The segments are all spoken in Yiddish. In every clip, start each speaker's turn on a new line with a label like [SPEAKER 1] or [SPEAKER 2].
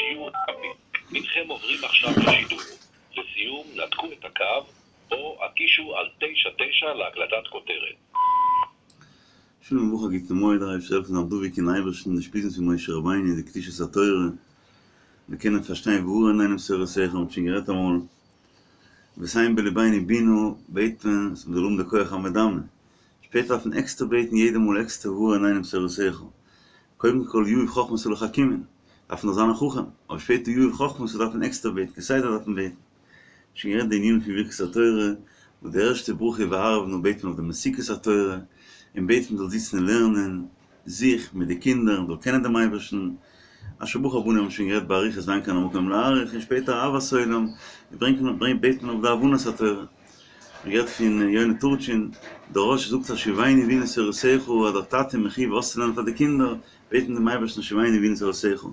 [SPEAKER 1] שיהיו רבים. הנכם עוברים עכשיו לשידור. לסיום, נתקו את הקו, או הקישו על 99 להקלטת כותרת.
[SPEAKER 2] שלום וברכה גוטן מועד דער אייבערשטער זאל העלפן זיין דבוק אין אייבערשטן די אושפיזין פון משה רבינו די קדושת התורה מיר קענען פארשטיין והאר עינינו בתורתך מ'האט שוין גערעדט אמאל ותן בלבנו בינה בעט מען אז מ'זאל האבן די כח המדמה שפעטער דארף מען עקסטער בעטן יעדע מאל עקסטער והאר עינינו בתורתך קודם כל יהיב חכמתא לחכימין דארף מען דאך זיין א חכם אבער שפעטער יהיב חכמתא דארף מען עקסטער בעטן כסדר דארף מען בעטן. שוין גערעדט די ענינים פון ברכת התורה, וואס די ערשטע ברכה וערב נא בעט מען אויף די מתיקות התורה, און בעט מען זאל זיצן און לערנען, זיך מיט די קינדער, מען זאל קענען דעם אייבערשטן, אשר בחר בנו האבן מיר שוין גערעדט באריכות ואין כאן המקום להאריך, און שפעטער אהבת עולם, ברענגט מען בעט מען אויף די הבנת התורה. מ'האט גערעדט פון יונה טורטשין, דער רא"ש זאגט השיבנו אבינו תורתך אז דער טאטע איז מחויב אויסצולערנען פאר די קינדער, בעט מען דעם אייבערשטן השיבנו אבינו תורתך.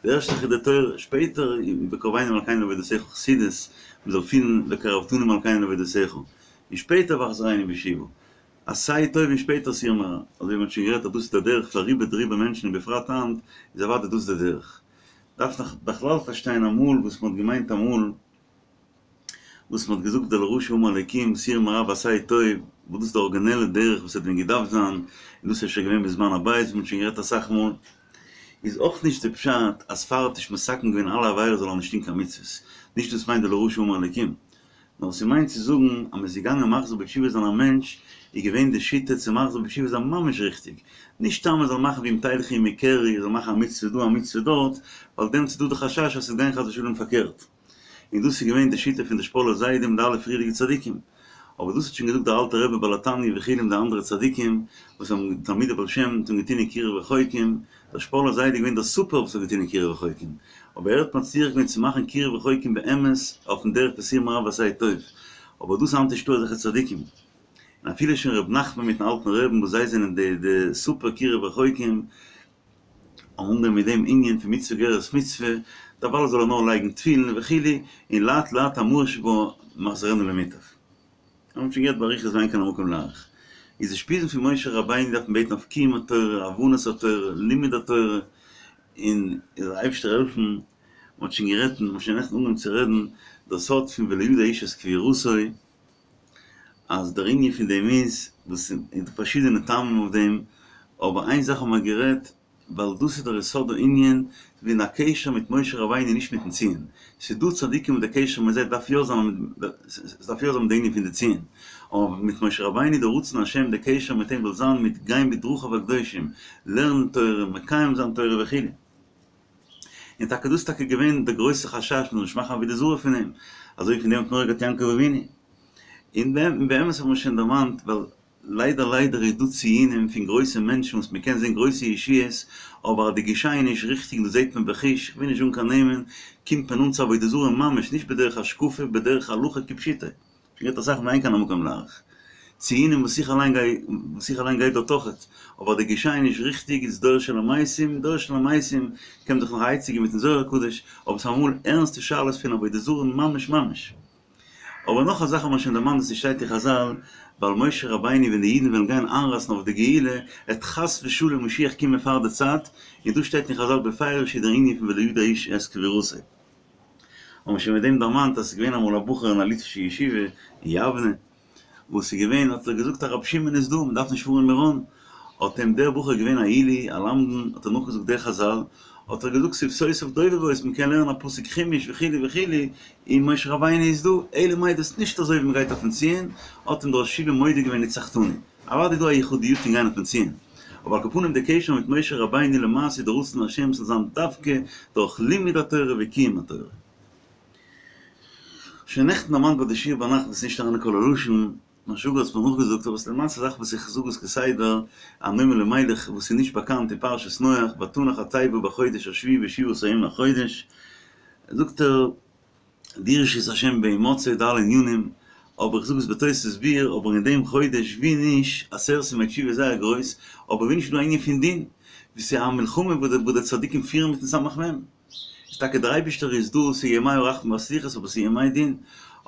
[SPEAKER 2] די ערשטע זאך איז די תורה, שפעטער וקרבנו מלכינו לעבודתך חסידות, מען זאל פילן וקרבתנו מלכינו לעבודתך, און שפעטער והחזרנו בתשובה, עשה טוב און שפעטער סור מרע, אזוי ווי מען האט שוין גערעדט אז דאס איז די דרך פאר רובא דרובא מענטשן און בפרט היינט איז אוודאי דאס די דרך. דארף נאך בכלל פארשטיין אמאל וואס מען האט געמיינט אמאל. וואס מען האט געזאגט די לרשע אמר אלקים סור מרע ועשה טוב, וואס דאס איז די ארגינעלע דרך וואס האט ווען געדארפט זיין, און דאס איז שוין געווען בזמן הבית ווי מען האט שוין גערעדט אסאך מאל, איז אויך נישט די פשט אז פאר האט נישט מתקן געווען אלע עבירות זאל ער נישט טון קיין מצוות, נישט דאס מיינט די לרשע אמר אלקים, נאר ס'מיינט צו זאגן אז מען איז געגאנגען מחזיר בתשובה זיין א מענטש, איז געווען די שיטה צו מחזיר בתשובה זיין ממש ריכטיג, נישט סתם מען זאל מאכן ואם תלכו עמי קרי, זאל מאכן א מצוה דא א מצוה דארט, ווייל דעמאלטס איז דא די חשש אז ס'וועט גיין חס ושלום פארקערט. און דאס איז געווען די שיטה פון די שפאלער זיידע מיט די אלע פריערדיגע צדיקים. אבער דאס האט שוין געזאגט דער אלטער רבי בעל התניא וכו' און די אנדערע צדיקים וואס האבן תלמידי בעל שם האבן געטון אין קירוב רחוקים, דער שפאלער זיידע איז געווען דער סופער וואס האט געטון אין קירוב רחוקים, אבער ער האט מצליח געווען צו מאכן קירוב רחוקים באמת אויפן דרך פון סור מרע ועשה טוב, אבער דאס היינט נישטא אזעלכע צדיקים. און אפילו שוין ר' נחמן מיטן אלטן רעבן וואס זיי זענען די די סופער קירוב רחוקים, אנגיין מיט דעם ענין פון מצוה גוררת מצוה, דערווייל זאל ער נאר לייגן תפילין וכו', און לאט לאט המאור שבה מחזירנו למוטב. האבן שוין געהערט באריכות ואין כאן המקום להאריך. איז די אושפיזין פון משה רבינו דארף מען בעטן אויף קיום התורה, הבנת התורה, לימוד התורה, און זאל דער אייבערשטער העלפן, מען האט שוין גערעדט און מען האט שוין נעכטן אנגעהויבן צו רעדן דער סוד פון ולא ידע איש את קבורתו, אז דער ענין פון דעם איז, וואס איז דא פארשידענע טעמים אויף דעם, אבער איין זאך האבן מיר גערעדט, ווייל דאס איז דער יסוד הענין, וועגן א קשר מיט משה רבינו נישט מיטן ציון. ס'איז דא צדיקים וואס דער קשר מיט זיי דארף יא זיין, ס'דארף יא זיין מיט די ענין פון די ציון, אבער מיט משה רבינו דער רצון השם דער קשר מיט אים זאל זיין מיט גיין בדרכיו הקדושים, לערנען תורה, מקיים זיין תורה וכו'. און טאקע דאס איז טאקע געווען דער גרויסער חשש מ'זאל נישט מאכן עבודה זרה פון אים, אזוי ווי פון דעם האט מורא געהאט יעקב אבינו. און באמת האט מען שוין דערמאנט, ווייל ליידער ליידער איז דא ציונים פון גרויסע מענטשן וואס מ'קען זען גרויסע ישועות, אבער אז די גישה איז נישט ריכטיג דאס זעט מען בחוש, כ'וויל נישט זאגן קיין נעמען, קומט מען אן צו עבודה זרה ממש, נישט בדרך השקפה, בדרך הלכה כפשוטו. גערעדט אסאך ואין כאן המקום להאריך. ציונים וואס איך אליין גיי וואס איך אליין גיי דארט אויכעט, אבער די גישה איז נישט ריכטיג איז דור של המתים, דור של המתים קען מען זיך נאך א עצה געבן מיטן זוהר הקדוש, אבער ס'איז אמאל ערנסטע שאלות פון עבודה זרה ממש ממש. אבער נאך א זאך האט מען שוין דערמאנט וואס ס'שטייט אין חזל, ווייל משה רבינו ווען די אידן וועלן גיין איינרייסן אויף די גאולה, עט חס ושלום משיח קומען פאר די צייט, און דאס שטייט אין חזל בפירוש איז דער ענין פון ולא ידע איש את קבורתו. האבן מיר שוין מיט דעם דערמאנט אז ס'איז געווען אמאל א בחור אין א ליטווישע ישיבה אין יבנה, וואס איז געווען האט ער געזאגט אז רבי שמעון איז דא, מ'דארף נישט פארן אין מירון, האט אים דער בחור געווען א עילוי, א למדן, האט ער נאכגעזאגט די חזל, האט ער געזאגט שפתותיו דובבות, מ'קען לערנען א פסוק חומש וכו' וכו', און משה רבינו איז דא, אלא מאי דאס נישט אזוי ווי מ'גייט אויפן ציון, האט אים דער ראש ישיבה מודה געווען ניצחתני. אוודאי איז דא א יחודיות אין גיין אויפן ציון, אבער על כל פנים די קשר מיט משה רבינו למעשה איז די רצון השם ס'זאל זיין דווקא דורך לימוד התורה וקיום התורה. שוין נעכטן דערמאנט ביי די שיעור ביינאכט וואס איז נישט אריין אין קול הלשון, מיין שוואגער האט מיר נאכגעזאגט אבער ס'איז למעשה א זאך וואס איך זאג עס כסדר, א נועם אלימלך וואס איז נישט באקאנט אין פרשת נח, ותנח התיבה בחודש השביעי בשבעה עשר יום לחודש, זאגט ער, דרשו את השם בהמצאו די אלע ענינים, אבער איך זאג עס בתוספות ביאור, אבער אין דעם חודש ווי נישט, עשרת ימי תשובה איז זייער גרויס, אבער ווי נישט איז דא א ענין פון דין, ווי ס'איז א מלחמה וואס די צדיקים פירן מיטן סמך מם, איז טאקע דער אייבישטער איז דא, ס'איז ימי הרחמים והסליחות אבער ס'איז ימי דין,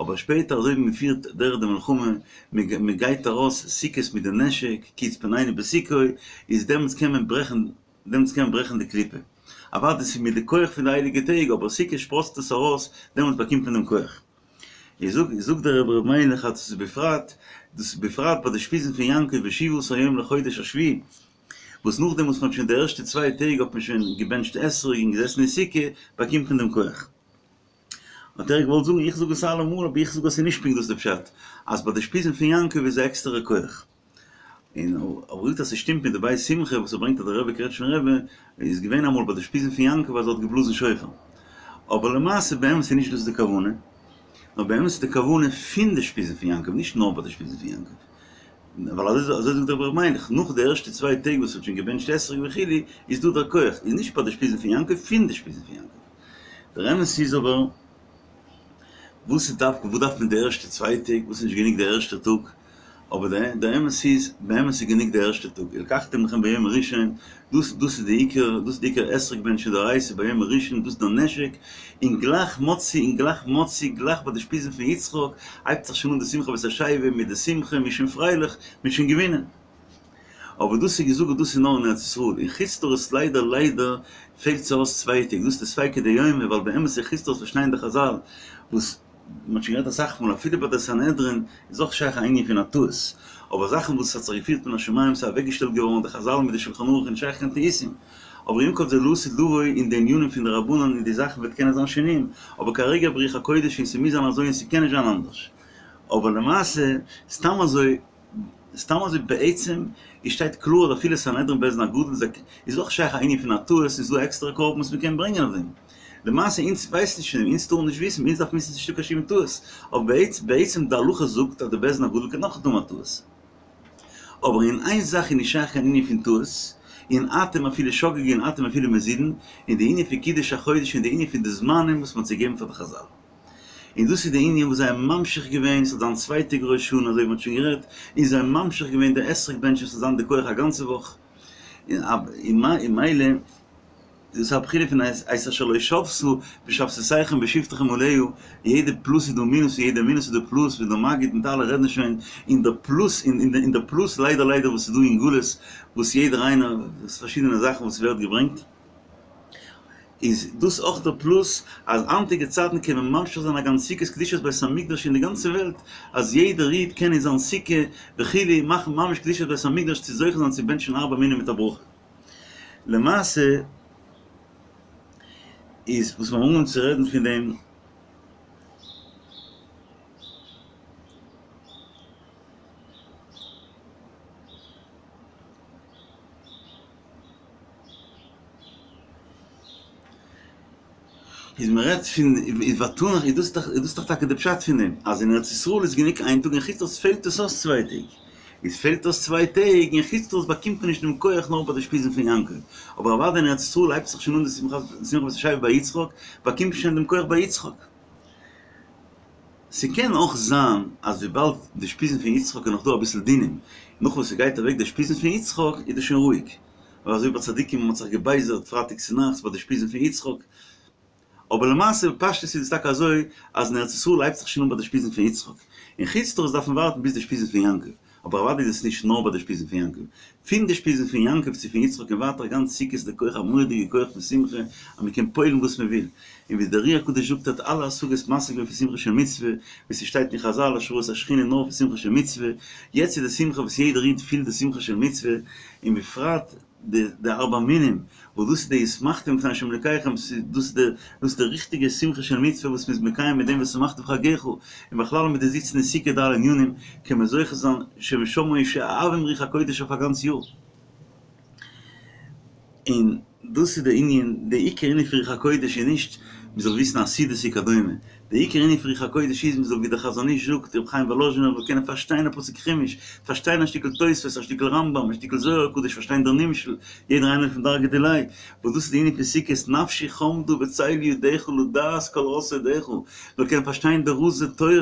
[SPEAKER 2] אבער שפעטער אזוי ווי מ'פירט דורך די מלחמה, מ'גייט ארויס סוכות מיט די נשק, כי יצפנני בסוכו, איז דעמאלטס קען מען ברעכן דעמאלטס קען מען ברעכן די קליפה. אוודאי ס'איז מיט די כח פון די הייליגע טעג, אבער סוכות שפראצט עס ארויס, דעמאלטס באקומט מען דעם כח. איז זאגט זאגט דער רבי ר' מיילעך אז דאס איז בפרט, דאס איז בפרט ביי די אושפיזין פון יעקב בשבעה עשר יום לחודש השביעי, וואס נאכדעם וואס מ'האט שוין די ערשטע צוויי טעג האט מען שוין געבענטשט אתרוג און געזעסן אין סוכה, באקומט מען דעם כח. האט ער געוואלט זאגן, איך זאג עס אלעמאל, אבער איך זאג אז ס'איז נישט פונקט דאס די פשט, אז ביי די אושפיזין פון יעקב איז א עקסטערע כח. און ער זאגט אז ס'שטימט מיט די בית שמחה וואס ער ברענגט אז דער רבי קרעטשניפער רבי איז געווען אמאל ביי די אושפיזין פון יעקב אז ער האט געבלאזן שופר. אבער למעשה באמת איז נישט דאס די כוונה, נאר באמת איז די כוונה פון די אושפיזין פון יעקב, נישט נאר ביי די אושפיזין פון יעקב. ווייל אזוי אזוי זאגט דער רבי ר' מיילעך, נאך די ערשטע צוויי טעג וואס מ'האט שוין געבענטשט אתרוג וכו', איז דא דער כח, איז נישט ביי די אושפיזין פון יעקב, פון די אושפיזין פון יעקב. דער אמת איז אבער, וואס איז דווקא, וואס דארף מען די ערשטע צוויי טעג, וואס איז נישט גענוג דער ערשטער טאג? אבער דער אמת איז, באמת איז גענוג דער ערשטער טאג, ולקחתם לכם ביום הראשון, דאס דאס איז די עיקר, דאס איז די עיקר אתרוג בענטשן דאורייתא ביום הראשון, דאס איז דער נשק, און גלייך מוצאי, און גלייך מוצאי, גלייך ביי די אושפיזין פון יצחק, הייבט זיך שוין אן די שמחה בית השואבה, מיט די שמחה, מ'איז שוין פרייליך, מ'איז שוין געווינען. אבער דאס איז געזאגט דאס איז נאר אין ארץ ישראל, אין חוץ לארץ ליידער ליידער פעלט זיך אויס צוויי טעג, דאס איז די ספיקא דיומא, ווייל באמת אין חוץ לארץ פארשטייען די חזל וואס מען האט שוין גערעדט אסאך מאל אפילו ביי די סנהדרין איז אויך שייך א ענין פון א טעות, אבער זאכן וואס האט זיך געפירט מן השמים ס'איז אוועקגעשטעלט געווארן די חזל מיט די שלחן ערוך איז נישט שייך קיין טעותים, אבער עם כל זה לעתיד לבוא אין די ענינים פון די רבנן און די זאכן וועט קענען זיין שינויים, אבער כרגע ברוח הקודש און ס'מוז זיין אזוי און ס'קען נישט זיין אנדערש. אבער למעשה סתם אזוי סתם אזוי בעצם איז שטייט קלאר אז אפילו סנהדרין בית דין הגדול איז איז אויך שייך א ענין פון א טעות איז דא עקסטערע קרבן וואס מ'קען ברענגען אויף דעם. למעשה אונז ווייסט נישט פון דעם, אונז טארן נישט וויסן, אונז דארף וויסן ס'נישטא קיין שום טעות, אבער בעצם די הלכה זאגט אז די בית דין הגדול קען אויך האבן א טעות. אבער אין איין זאך איז נישט שייך קיין ענין פון טעות, און אתם אפילו שוגג און אתם אפילו מזידין, אין די ענין פון קידוש החודש און די ענין פון די זמנים וואס מ'האט צוגעגעבן פאר די חזל. און דאס איז די ענין וואס זיי האבן ממשיך געווען, ס'זאל זיין צוויי טעג ראש השנה אזוי ווי מ'האט שוין גערעדט, און זיי האבן ממשיך געווען די אתרוג בענטשן ס'זאל זיין די כח א גאנצע וואך, און מילא דאס איז א בחינה פון את אשר לא שבתה בשבתותיכם בשבתכם עליה, יעדע פלוס איז דא מינוס און יעדע מינוס איז דא פלוס, ווי דער מגיד מיט אלע רעדן שוין, און דער פלוס און דער פלוס ליידער ליידער וואס איז דא אין גלות, וואס יעדער איינער, פארשידענע זאכן וואס ווערט געברענגט. איז דאס אויך דער פלוס אז היינטיגע צייטן קען מען ממשיך זיין א גאנץ סוכות קדושת בית המקדש אין די גאנצע וועלט, אז יעדער איד קען אין זיין סוכה וכו' מאכן ממש קדושת בית המקדש צו זוכה זיין צו בענטשן ארבע מינים מיט א ברכה. למעשה איז וואס מיר האבן אנגעהויבן צו רעדן פון דעם, איז מען רעדט פון איז ותנח איז דאס דאך איז דאס דאך טאקע די פשט פון דעם אז אין ארץ ישראל איז גענוג איין טאג אין חוץ לארץ פעלט עס אויס צוויי טעג איז פעלט אויס צוויי טעג אין חוץ לארץ באקומט מען נישט דעם כח נאר ביי די אושפיזין פון יעקב אבער אוודאי אין ארץ ישראל הייבט זיך שוין אן די שמחת שמחת בית השואבה ביי יצחק באקומט מען שוין דעם כח ביי יצחק. ס'קען אויך זיין אז וויבאלד די אושפיזין פון יצחק איז נאך דא אביסל דינים, נאך וואס ס'גייט אוועק די אושפיזין פון יצחק איז דאס שוין רואיג. ווייל אזוי ביי צדיקים האט מען זיך געבייזערט פרייטאג צונאכטס ביי די אושפיזין פון יצחק. אבער למעשה בפשטות איז עס טאקע אזוי אז אין ארץ ישראל הייבט זיך שוין אן ביי די אושפיזין פון יצחק. אין חוץ לארץ דארף מען ווארטן ביז די אושפיזין פון יעקב. אבער אוודאי איז עס נישט נאר ביי די אושפיזין פון יעקב. פון די אושפיזין פון יעקב צו פון יצחק און ווייטער גאנץ סוכות איז די כח א מורא'דיגע כח פון שמחה אז מען קען פועל'ן וואס מען וויל. און ווי דער אר"י הקדוש זאגט האט אלע השגות משיג געווען פון שמחה של מצוה, ווי ס'שטייט אין חזל השראת השכינה נאר פון שמחה של מצוה, יעצט איז די שמחה וואס יעדער איד פילט די שמחה של מצוה, און בפרט די די ארבע מינים, וואס דאס איז די ושמחתם לפני השם אלקיכם, דאס איז די דאס איז די ריכטיגע שמחה של מצוה וואס מ'איז מקיים מיט דעם ושמחת בחגך, און בכלל מיט די זיצן אין סוכה די אלע ענינים, קען מען זוכה זיין שמשם שואבים רוח הקודש אויף א גאנץ יאר. און דאס איז די ענין, די עיקר ענין פון רוח הקודש איז נישט מען זאל וויסן עתידות וכדומה, די עיקר ענין פון רוח הקודש איז מען זאל ווי דער חזון איש זאגט, רבי חיים וואלאזשינער זאל קענען פארשטיין א פסוק חומש, פארשטיין א שטיקל תוספות, א שטיקל רמב"ם, א שטיקל זוהר הקדוש, פארשטיין דער נמשל, יעדער איינער פון דרגא דיליה, וואס דאס איז די ענין פון סוכות, נפשי חמדה בצל ידך לדעת כל רזי דך, זאל קענען פארשטיין די רזי תורה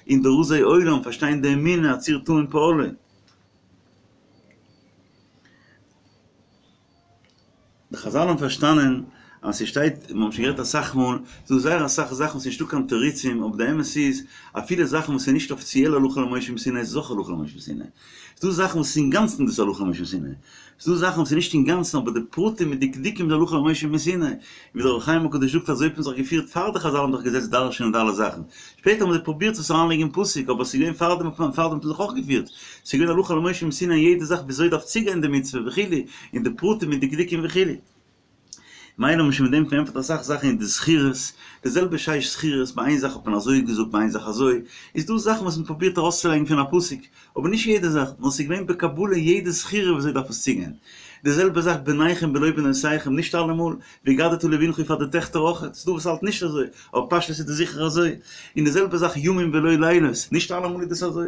[SPEAKER 2] און די רזי עולם, פארשטיין די אמונה, הצור תמים פעלו. די חזל האבן פארשטאנען אז ס'שטייט, מיר האבן שוין גערעדט אסאך מאל, ס'דא זייער אסאך זאכן וואס נישטא קיין תירוצים, אבער די אמת איז, אפילו זאכן וואס איז נישט אפיציעל הלכה למשה מסיני איז עס אויך הלכה למשה מסיני. ס'דא זאכן וואס איז אינגאנצן דאס הלכה למשה מסיני. ס'דא זאכן וואס איז נישט אינגאנצן אבער די פרטים מיט דקדוקים איז הלכה למשה מסיני. ווי דער אור החיים הקדוש זאגט אזוי האט מען זיך געפירט פאר די חזל האבן זיך געזעצט דרש'ענען די אלע זאכן. שפעטער האבן זיי פרובירט עס אריינלייגן אין פסוק אבער ס'איז געווען פארדעם האט מען פארדעם האט מען זיך אויך געפירט. ס'איז געווען הלכה למשה מסיני אין יעדע זאך וויאזוי דארף צוגיין די מצוה וכו' און די פרטים מיט דקדוקים וכו'. מילא האבן מיר שוין מיט דעם פארענטפערט אסאך זאכן אין די זכירות, די זעלבע שש זכירות, ביי איין זאך האט מען אזוי געזאגט ביי איין זאך אזוי, איז דא זאכן וואס מען פרובירט ארויסצולייגן פון א פסוק, אבער נישט יעדע זאך, נאר ס'איז געווען בקבלה יעדע זכירה וויאזוי דארף עס צוגיין. די זעלבע זאך בניכם בלא בנותיכם, נישט אלעמאל, והגדת לבנך פאר די טעכטער אויך, ס'איז דא וואס האלט נישט אזוי, אבער פשטות איז דאס זיכער אזוי, און די זעלבע זאך ימים ולא לילות, נישט אלעמאל איז דאס אזוי.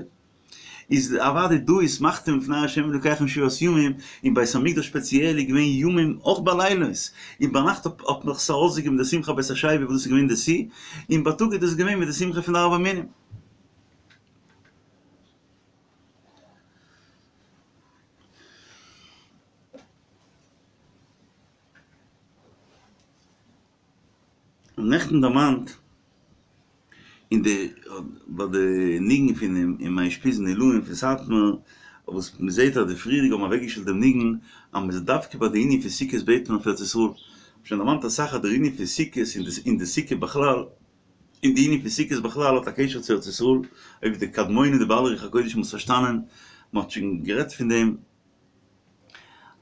[SPEAKER 2] איז אוודאי דא ושמחתם לפני ה' אלוקיכם שבעת ימים, אין בית המקדש ספעציעל איז געווען ימים אויך בלילות, און ביינאכט האט מען דאך עס ארויסגעגעבן די שמחה בית השואבה וואס דאס איז געווען די שיא, און בייטאג איז דאס געווען מיט די שמחה פון די ארבע מינים. און נעכטן דערמאנט אין די ביי די ניגון פון אין מיין אושפיזין עילאין פון סאטמאר וואס מען זעט אז די פריערדיגע האבן אוועקגעשטעלט דעם ניגון אז מען איז דווקא ביי די ענין פון סוכות בעט מען אויף ארץ ישראל, כ'האב שוין דערמאנט אסאך אז דער ענין פון סוכות און די סוכה בכלל און די ענין פון סוכות בכלל האט א קשר צו ארץ ישראל, אויב די קדמונים די בעלי רוח הקודש האבן עס פארשטאנען, מען האט שוין גערעדט פון דעם.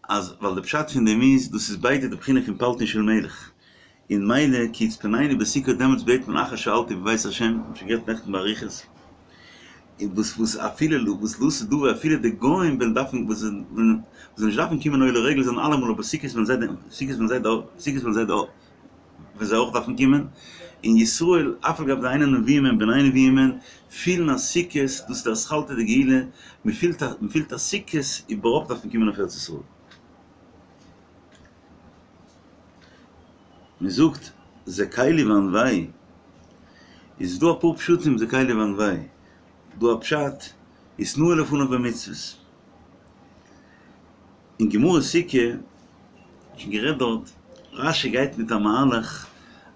[SPEAKER 2] אז ווייל די פשט פון דעם איז דאס איז ביידע די בחינה פון פלטין של מלך, און מילא כי יצפנני בסוכה דעמאלטס בעט מען אחר שאלתי בבית השם, מ'האט שוין גערעדט נעכטן באריכות, און וואס וואס אפילו וואס לעתיד לבוא אפילו די גוים וועלן דארפן וואס וועלן נישט דארפן קומען עולה רגל זיין אלעמאל אבער סוכות וועלן זיי סוכות וועלן זיי סוכות וועלן זיי וועלן זיי אויך דארפן קומען, און ישראל אף על גב דאינן נביאים הם בני נביאים הם, פילן אז סוכות, דאס איז די אתחלתא דגאולה, מען פילט א מען פילט אז סוכות איבערהויפט דארף מען קומען אויף ארץ ישראל. מען זאגט זה קלי ואנוהו, איז דא אפאר פשטים זה קלי ואנוהו, דא א פשט, התנאה לפניו במצוות. אין גמרא סוכה, שוין גערעדט דארט, רש"י גייט מיט א מהלך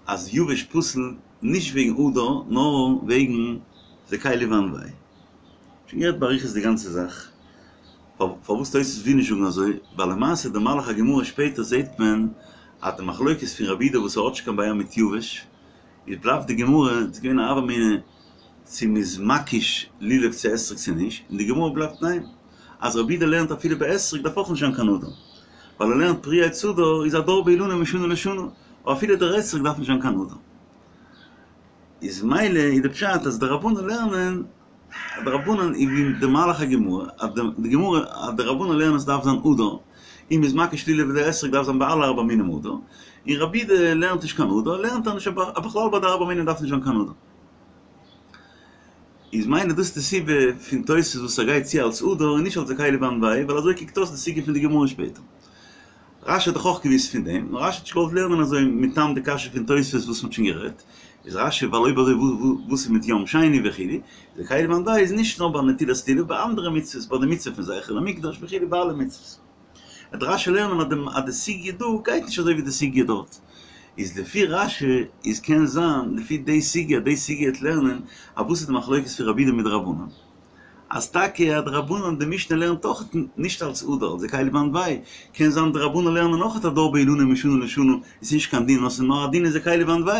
[SPEAKER 2] אז יבש פסול נישט וועגן הדר נאר וועגן זה קלי ואנוהו. שוין גערעדט באריכות די גאנצע זאך, פארוואס תוספות וויל נישט זאגן אזוי, ווייל למעשה די מהלך הגמרא שפעטער זעט מען אז די מחלוקת פון רבי יהודה וואס ער האט נישט קיין בעיה מיט יבש, איז בלייבט די גמרא, ס'איז געווען א הוה אמינא צו מ'איז מקיש לולב צו אתרוג צו נישט, און די גמרא בלייבט ניין, אז רבי יהודה לערנט אפילו ביי אתרוג דארף אויך נישט זיין קיין הדר, ווייל ער לערנט פרי עץ הדר איז הדר באילנו משנה לשנה, אבער אפילו דער אתרוג דארף נישט זיין קיין הדר. איז מילא איז די פשט אז די רבנן לערנען, די רבנן איז ווי די מהלך הגמרא, אז די גמרא אז די רבנן לערנען עס דארף זיין הדר, און מ'איז מקיש לולב לאתרוג דארף זיין ביי אלע ארבע מינים הדר, און רבי יהודה לערנט נישט קיין הדר, לערנט ער נישט אז בכלל ביי די ארבע מינים דארף נישט זיין קיין הדר. איז מילא דאס די סיבה פון תוס' וואס ער גייט צו אלס הדר און נישט אלס זה קלי ואנוהו, ווייל אזוי קוקט אויס די סוגיא פון די גמרא שפעטער. רש"י האט דאך אויך געוואוסט פון דעם, נאר רש"י האט נישט געוואלט לערנען אזוי מטעם די קשיא פון תוספות וואס מ'האט שוין גערעדט, איז רש"י ווייל אויב אזוי וואס איז מיט יום שני וכו', זה קלי ואנוהו איז נישט נאר ביי נטילת לולב, ביי אנדערע מצוות, ביי די מצוה פון זכר למקדש וכו' ביי אלע מצוות. וועט רש"י לערנען אז די סוגיא דא גייט נישט אזוי ווי די סוגיא דארט. איז לפי רש"י איז קען זיין לפי די סוגיא אז די סוגיא וועט לערנען אז וואס איז די מחלוקת פון רבי יהודה מיט די רבנן. אז טאקע אז די רבנן די משנה לערנט אויך נישט אלס הדר אלס זה קלי ואנוהו, קען זיין די רבנן לערנען אויך הדר באילנו משנה לשנה איז נישט קיין דין נאר ס'איז נאר א דין אין זה קלי ואנוהו.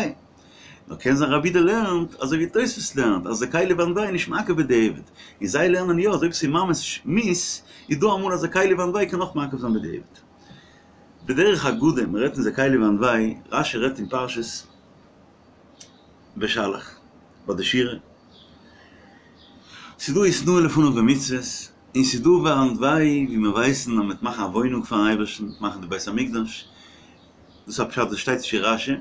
[SPEAKER 2] נאר קען זיין רבי יהודה לערנט אזוי ווי תוספות לערנט אז זה קלי ואנוהו נישט מעכב בדיעבד, און זיי לערנען יא אז אויב ס'איז ממש מיאוס איז דא אמאל אז זה קלי ואנוהו קען אויך מעכב זיין בדיעבד. בדרך אגדה, מ'רעדט אין זה קלי ואנוהו, רש"י רעדט אין פרשת בשלח ביי די שירה, ס'איז דא התנאה לפניו במצוות, און ס'איז דא ואנוהו ווי מיר ווייסן אז מ'וועט מאכן א וואוינונג פארן אייבערשטן, מאכן די בית המקדש, דאס איז א פשט וואס שטייט נישט אין רש"י,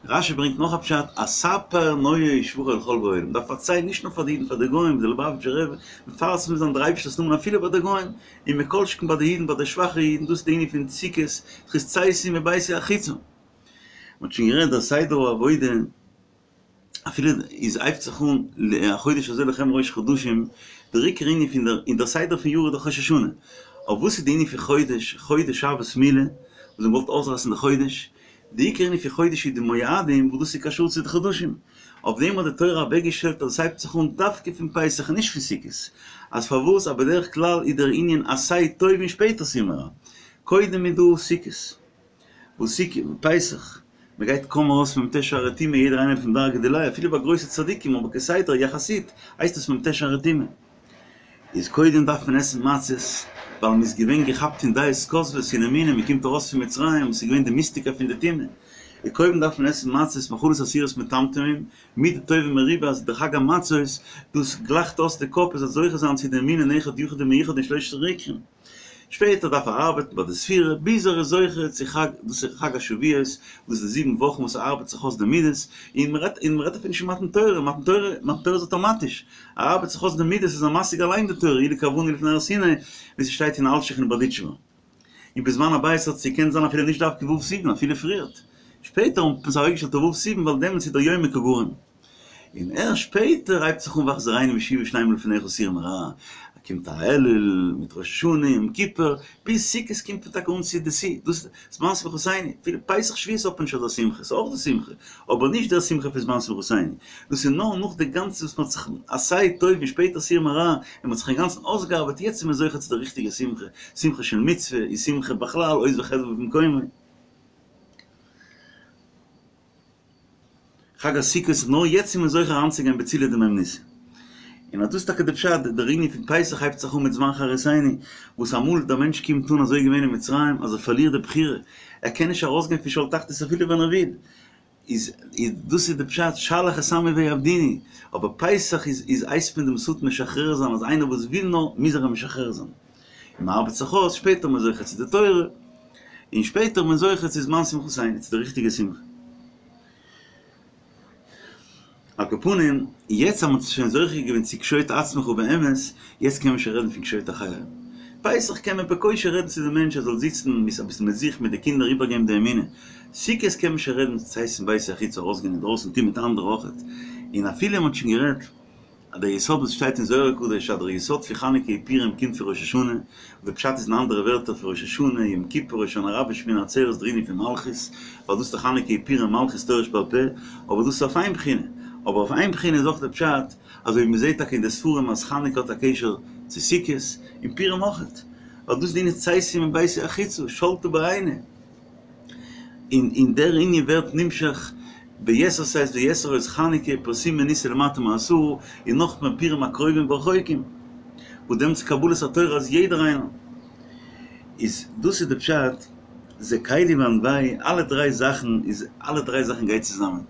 [SPEAKER 2] רש"י ברענגט נאך א פשט אז ספר נאה שבחו לכל בעולם, מ'דארף פארציילן נישט נאר פאר די אידן פאר די גוים, די ליובאוויטשער רבי, מפרסם זיין דער אייבערשטער'ס נאמען אפילו ביי די גוים, און מכל שכן ביי די אידן ביי די שוואכע אידן, דאס איז די ענין פון סוכות, זכות צאתי מביתי החוצה. מ'האט שוין גערעדט דער סדר העבודה. אפילו איז הייבט זיך אן החודש הזה לכם ראש חדשים, דער עיקר ענין פון דער אין דער סדר פון יאר איז דאך ראש השנה, אבער וואס איז די ענין פון חודש, חודש שבת מילה, וואס מען וואלט אויסרייסן די חודש, די עיקר ענין פון חודש איז די מועדים וואס דאס איז קשור צו די חדשים. אויף דעם האט די תורה אוועקגעשטעלט אז עס הייבט זיך אן דווקא פון פסח און נישט פון סוכות. אז פארוואס? אז בדרך כלל איז דער ענין עשה טוב און שפעטער סור מרע. קודם איז דא סוכות. וואס סוכות? פסח. מען גייט קוים ארויס פון מ"ט שערי טומאה יעדער איינער פון דרגא דיליה אפילו ביי גרויסע צדיקים אבער כסדר יחסית הייסט עס מ"ט שערי טומאה. איז קודם דארף מען עסן מצות, ווייל מען איז געווען געכאפט אין דעות כוזבות און אמונה, מען קומט ארויס פון מצרים וואס איז געווען די מיסטיקה פון די טומאה, איז קודם דארף מען עסן מצות מאכלות אסורות מטמטמים, מידה טובה מרובה אז די חג המצות דאס גלייכט אויס די קאפ עס זאל זוכה זיין צו די אמונה אין אחד יחיד ומיוחד אין שלושת העיקרים. שפעטער דארף ער ארבעטן ביי די ספירה ביז ער איז זוכה צו חג, דאס איז חג השבועות, דאס איז די זיבן וואכן וואס ער ארבעט זיך אויס די מידות, און מען רעדט און מען רעדט אפילו נישט פון מתן תורה, מתן תורה מתן תורה איז אטאמאטיש, ער ארבעט זיך אויס די מידות איז ער משיג אליין די תורה, אילו קרבנו לפני הר סיני, ווי ס'שטייט אין אלשיך אין בארדיטשובער. און בזמן הבית האט עס געקענט זיין אפילו נישט דווקא ו' סיוון אפילו פריערט. שפעטער האט מען עס אוועקגעשטעלט אויף ו' סיוון ווייל דעמאלטס איז דער יומא קא גרים. און ערשט שפעטער הייבט זיך אן והחזירנו בשוב שלימה לפניך סור מרע, קומט א אלול מיט ראש השנה יום כיפור, ביז סוכות קומט מען טאקע אן צו די שיא, דאס איז זמן שמחתינו, אפילו פסח שבועות האט מען נישט אזא שמחה, ס'איז אויך דא שמחה, אבער נישט דער שמחה פון זמן שמחתינו, דאס איז נאר נאך די גאנצע וואס מ'האט זיך עשה טוב און שפעטער סור מרע, און מ'האט זיך אינגאנצן אויסגעארבעט, יעצט איז מען זוכה צו די ריכטיגע שמחה, שמחה של מצוה, און שמחה בכלל, עוז וחדוה במקומו. חג הסוכות, נאר יעצט איז מען זוכה אריינצוגיין בצילא דמהימנותא. און אט דאס איז טאקע די פשט, דער ענין פון פסח הייבט זיך אן מיט זמן חירותינו, וואס אמאל דער מענטש קומט אן אזוי געווען אין מצרים אז ער פארלירט די בחירה, ער קען נישט ארויסגיין פון שאול תחתית אפילו ווען ער וויל, איז דאס איז די פשט שלח את עמי ויעבדוני, אבער פסח איז איז הייסט מען דעם שטן משחרר זיין אז איינער וואס וויל נאר מוז ער אים משחרר זיין. און מען ארבעט זיך אויס, שפעטער איז מען זוכה צו די תורה, און שפעטער איז מען זוכה צו זמן שמחתינו, צו די ריכטיגע שמחה. על כל פנים, יעצט אז מען האט שוין זוכה געווען צו קשוט עצמך באמת, יעצט קען מען שוין רעדן פון קשוט אחרים. פסח קען מען בקושי רעדן צו די מענטש ער זאל זיצן אביסל מיט זיך מיט די קינדער איבערגעבן די אמונה. סוכות קען מען שוין רעדן צאת מביתו החוצה ארויסגיין אינדרויסן טון מיט אנדערע אויכעט. און אפילו מען האט שוין גערעדט אז דער יסוד וואס שטייט אין זוהר הקדוש אז דער יסוד פון חנוכה און פורים קומט פון ראש השנה, און די פשט איז אין אנדערע ווערטער פון ראש השנה, יום כיפור, הושענא רבה, שמיני עצרת דער ענין פון מלכות, ווייל דאס איז דאך חנוכה און פורים מלכות תורה שבעל פה, אבער דאס איז אויף איין בחינה, אבער אויף איין בחינה איז אויך דער פשט, אזוי ווי מ'זעט טאקע אין די ספרים אז חנוכה האט א קשר צו סוכות, און פורים אויכעט, ווייל דאס איז די ענין צאתי מביתי החוצה, שלטא בעינא. און און דער ענין ווערט נמשך ביתר שאת ויתר עוז חנוכה פרסומי ניסא למטה מעשרה און נאכמער פורים הקרובים והרחוקים וואס דעמאלטס קבלת התורה אז יעדער איינער איז דאס איז די פשט זה קלי ואנוהו אלע דריי זאכן איז אלע דריי זאכן גייט צוזאמען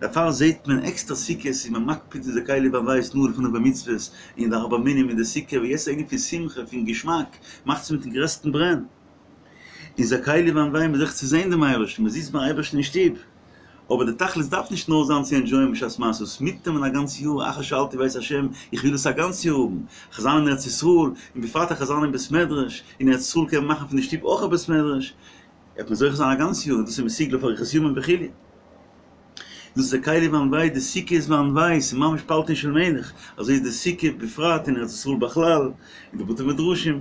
[SPEAKER 2] דערפאר זעהט מען עקסטער סוכות איז מען מקפיד אין זה קלי ואנוהו התנאה לפניו במצוות און די ארבע מינים אין די סוכה ווי עס איז ענין פון שמחה פון געשמאק מאכט עס מיטן גרעסטן ברען. און זה קלי ואנוהו מ'איז זוכה צו זען דעם אייבערשטן, מען זיצט ביים אייבערשטן אין שטוב, אבער די תכלית דארף נישט נאר זיין צו ענדזשויען בשעת מעשה, עס מיטנעמען א גאנץ יאר, אחר שאלתי בית השם, איך וויל עס א גאנץ יאר האבן, כ'זאל זיין אין ארץ ישראל, און בפרט איך זאל זיין אין בית מדרש, אין ארץ ישראל קען מען מאכן פון די שטוב אויך א בית מדרש, וועט מען זוכה זיין א גאנץ יאר, און דאס איז מסוגל אויף אריכות ימים וכו'. דאס איז זה קלי ואנוהו, די סוכה איז ואנוהו, ס'איז ממש פלטין של מלך, אזוי איז די סוכה בפרט אין ארץ ישראל בכלל, אין די בתי מדרשים.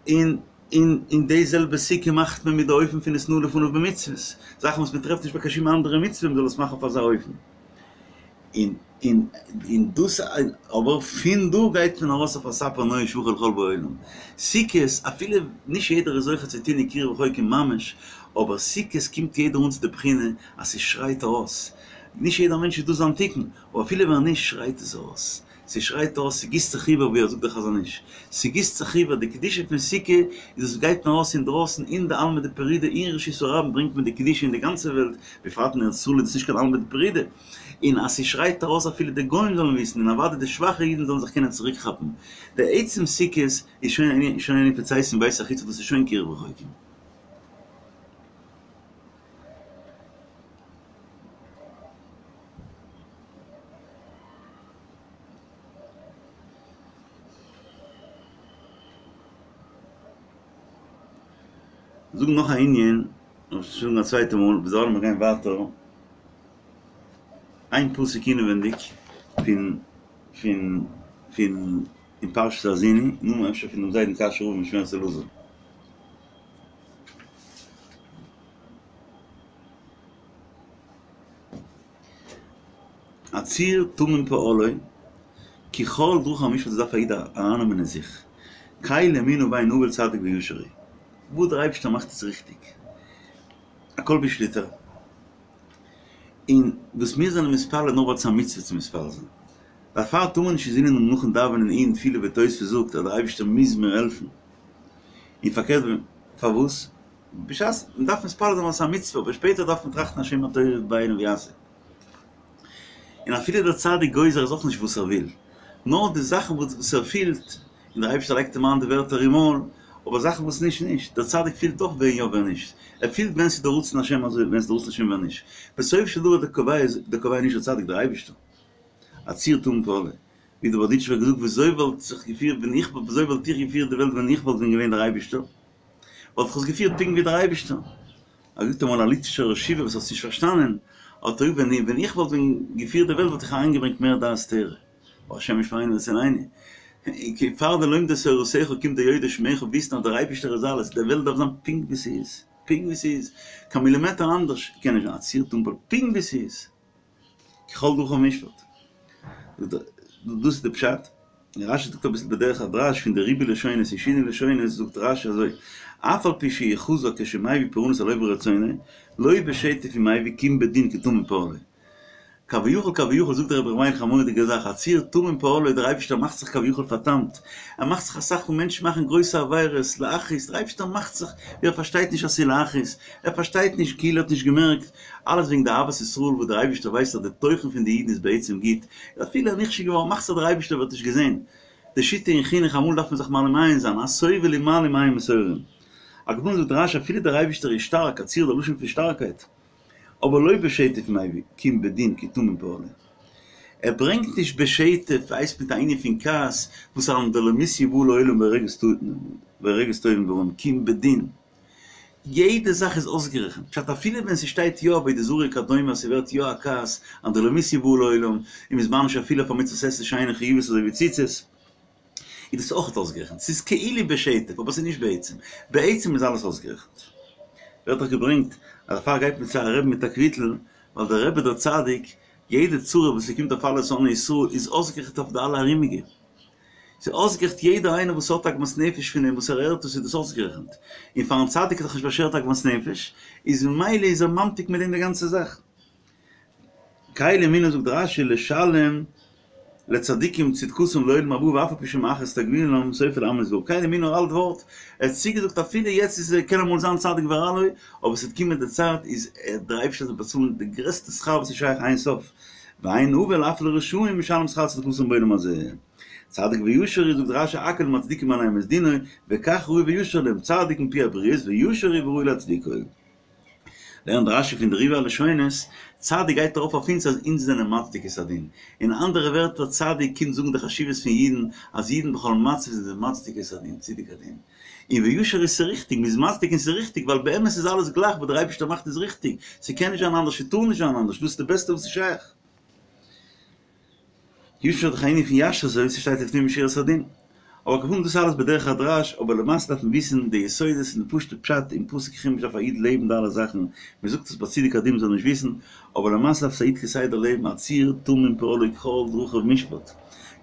[SPEAKER 2] און און און די זעלבע סוכה מאכט מען מיט די אופן פון התנאה לפניו במצוות, זאכן וואס מען טרעפט נישט ביי קיין שום אנדערע מצוה מען זאל עס מאכן אויף אזא אופן. און און און דאס אבער פון דא גייט מען ארויס אויף אספר נאה שבחו לכל באי עולם. סוכות, אפילו נישט יעדער איז זוכה צו טון קירוב רחוקים ממש, אבער סוכות קומט יעדער אן צו די בחינה אז ס'שרייט ארויס. נישט יעדער מענטש איז דאס זיין תיקון, אבער אפילו ווען נישט שרייט עס ארויס. ס'שרייט אויס, ס'גיסט זיך איבער, ווי ער זאגט דער חזון איש, ס'גיסט זיך איבער, די קדושה פון סוכה איז עס גייט מען ארויס אינדרויסן אין די עלמא דפרידא אין רשות הרבים ברענגט מען די קדושה אין די גאנצע וועלט, בפרט אין ארץ ישראל איז דאס נישט קיין עלמא דפרידא, און אז ס'שרייט ארויס אפילו די גוים זאלן וויסן און אוודאי די שוואכע אידן זאלן זיך קענען צוריק כאפן, די עצם סוכות איז שוין שוין ענין פון צאתי מביתי החוצה דאס איז שוין קירוב רחוקים. זאגן נאך א ענין, אבער שוין זאגן א צווייטע מאל, ביז דערווייל לאמיר גיין ווייטער, איין פסוק אינעווענדיג פון פון פון אין פרשת האזיני, נו אפשר פון דעם זיידן קאשוי רב משמרת אלעזר. הצור תמים פעלו, כי כל דרכיו משפט דאס דארף א איד ארייננעמען אין זיך, קל אמונה ואין עול צדיק וישר הוא, וואס דער אייבערשטער מאכט איז ריכטיג, הכל בשליטה, און וואס מיר זענען מתפלל נאר ווייל ס'איז א מצוה צו מתפלל זיין, דערפאר טאר מען נישט אינזינען האבן נאכן דאווענען אין תפילה ווי תוספות זאגט אז דער אייבערשטער מוז מיר העלפן, און פארקערט פארוואס? בשעת מען דארף מתפלל זיין ווייל ס'איז א מצוה, אבער שפעטער דארף מען טראכטן השם הטוב בעיניו יעשה. און אפילו דער צדיק גוזר איז אויך נישט וואס ער וויל, נאר די זאכן וואס ער פילט, און דער אייבערשטער לייגט אים איין די ווערטער אין מויל, אבער זאכן וואס נישט נישט, דער צדיק פילט אויך ווען יא ווען נישט, ער פילט ווען ס'איז דער רצון השם אזוי ווען ס'איז דער רצון השם ווען נישט, בסוף של דבר דער קובע איז דער קובע נישט דער צדיק דער אייבערשטער, הצור תמים פעלו, ווי דער בארדיטשובער האט געזאגט וויאזוי וואלט זיך געפירט ווען איך וויאזוי וואלט איך געפירט די וועלט ווען איך וואלט ווען געווען דער אייבערשטער, וואלט איך עס געפירט פונקט ווי דער אייבערשטער. האט געזאגט אמאל א ליטווישער ראש ישיבה וואס האט עס נישט פארשטאנען, האט ער געזאגט ווען ווען איך וואלט ווען געפירט די וועלט וואלט איך אריינגעברענגט מער דעת תורה, השם ישמרינו ונצילנו, פאר די לומדי תורתך קומט די יודעי שמך וויסן אז דער אייבערשטער איז אלעס, די וועלט דארף זיין פונקט ווי ס'איז, פונקט ווי ס'איז, קיין מילימעטער אנדערש קען נישט זיין, הצור תמים פעלו, פונקט ווי ס'איז. כל דרכיו משפט. דאס איז די פשט. רשי זאגט אביסל בדרך הדרש פון די ריבוי לשונות און שינוי לשונות זאגט רשי אזוי, אף על פי שהוא חזק כשמביא פורענות על עוברי רצונו, לא בשטף הוא מביא כי אם בדין כי תמים פעלו. כביכול כביכול זאגט דער רבי ר' מיילך א מורא'דיגע זאך, הצור תמים פעלו דער אייבערשטער מאכט זיך כביכול פאר'תמ'ט, ער מאכט זיך אסאך פון מענטשן מאכן גרויסע עבירות, להכעיס, דער אייבערשטער מאכט זיך ווי ער פארשטייט נישט אז ס'איז להכעיס, ער פארשטייט נישט כאילו ער האט נישט געמערקט, אלעס וועגן די אהבת ישראל וואס דער אייבערשטער ווייסט אז די תוכן פון די אידן איז בעצם גוט, איז אפילו ער נכשל געווארן מאכט זיך דער אייבערשטער ווי ער האט נישט געזען. די שיטה אין חינוך אמאל דארף מען זיך מעלים עין זיין, הסובל ומעלים עין מסובים. על כל פנים זאגט רשי אפילו דער אייבערשטער איז שטארק, הצור איז א לשון פון שטארקייט, אבער לא בשטף מביא, כי אם בדין כי תמים פעלו. ער ברענגט נישט בשטף הייסט מיט א ענין פון כעס וואס אנדרלמוסיא באה לעולם והורגת טובים ורעים כי אם בדין. יעדע זאך איז אויסגערעכנט, פשט אפילו ווען ס'שטייט יא עבודה זרה וכדומה אז ס'ווערט יא א כעס אנדרלמוסיא באה לעולם און מ'איז מעניש אפילו אויף א מצות עשה שאינה חיובית אזוי ווי ציצית, איז דאס אויך אויסגערעכנט, ס'איז כאילו בשטף אבער ס'איז נישט בעצם, בעצם איז אלעס אויסגערעכנט. ווערט דאך געברענגט אז דערפאר גייט מען צו א רבי מיט א קוויטל, ווייל דער רבי דער צדיק, יעדע צרה וואס ס'קומט אויף אלע שונאי ישראל איז אויסגערעכנט אויף די אלע ארומיגע. ס'איז אויסגערעכנט יעדער איינער וואס האט עגמת נפש פון אים וואס ער הערט עס איז דאס אויסגערעכנט, און פארן צדיק איז דאך נישט באשערט עגמת נפש, איז ממילא איז ער ממתיק מיט דעם די גאנצע זאך. קל אמונה זאגט רשי לשלם לצדיקים צדקתם לעולם הבא ואף על פי שמאחר תגמולם סופו לעמו יתברך קל אמונה א אלט ווארט, ער האט צוגעזאגט אפילו יעצט איז ער קען אמאל זיין צדיק ורע לו, אבער ס'וועט קומען די צייט איז דער אייבערשטער וועט באצאלן די גרעסטע שכר וואס איז שייך אין סוף, ואין עוול אף לרשעים משלם שכר צדקתם בעולם הזה. צדיק וישר הוא זאגט רשי הכל מצדיקים עליהם את דינו וכך ראוי וישר להם צדיק מפי הבריות וישר הוא וראוי להצדיקו. לערנט רשי פון די ריבוי הלשונות, צדיק גייט ארויף אויף אונז אז אונז זענען מצדיק את הדין. אין אנדערע ווערטער צדיק קומט זאגן די חשיבות פון אידן אז אידן בכל מצב זענען מצדיק את הדין, צידוק הדין. און וישר איז ס'ריכטיג, מ'איז מצדיק און ס'ריכטיג ווייל באמת איז אלעס גלייך וואס דער אייבערשטער מאכט איז ריכטיג, ס'קען נישט זיין אנדערש ס'טאר נישט זיין אנדערש דאס איז די בעסטע וואס איז שייך. ישר איז דאך א ענין פון ישר אזוי ווי ס'שטייט לפנים משורת הדין. אבער כמובן דאס איז אלעס בדרך הדרש, אבער למעשה דארף מען וויסן די יסודות און די פשוט'ע פשט אין פסוק חומש דארף א איד לעבן די אלע זאכן, מען זאגט עס ביי צידוק הדין מ'זאל נישט וויסן, אבער למעשה דארף עס א איד כסדר לעבן הצור תמים פעלו כל דרכיו משפט,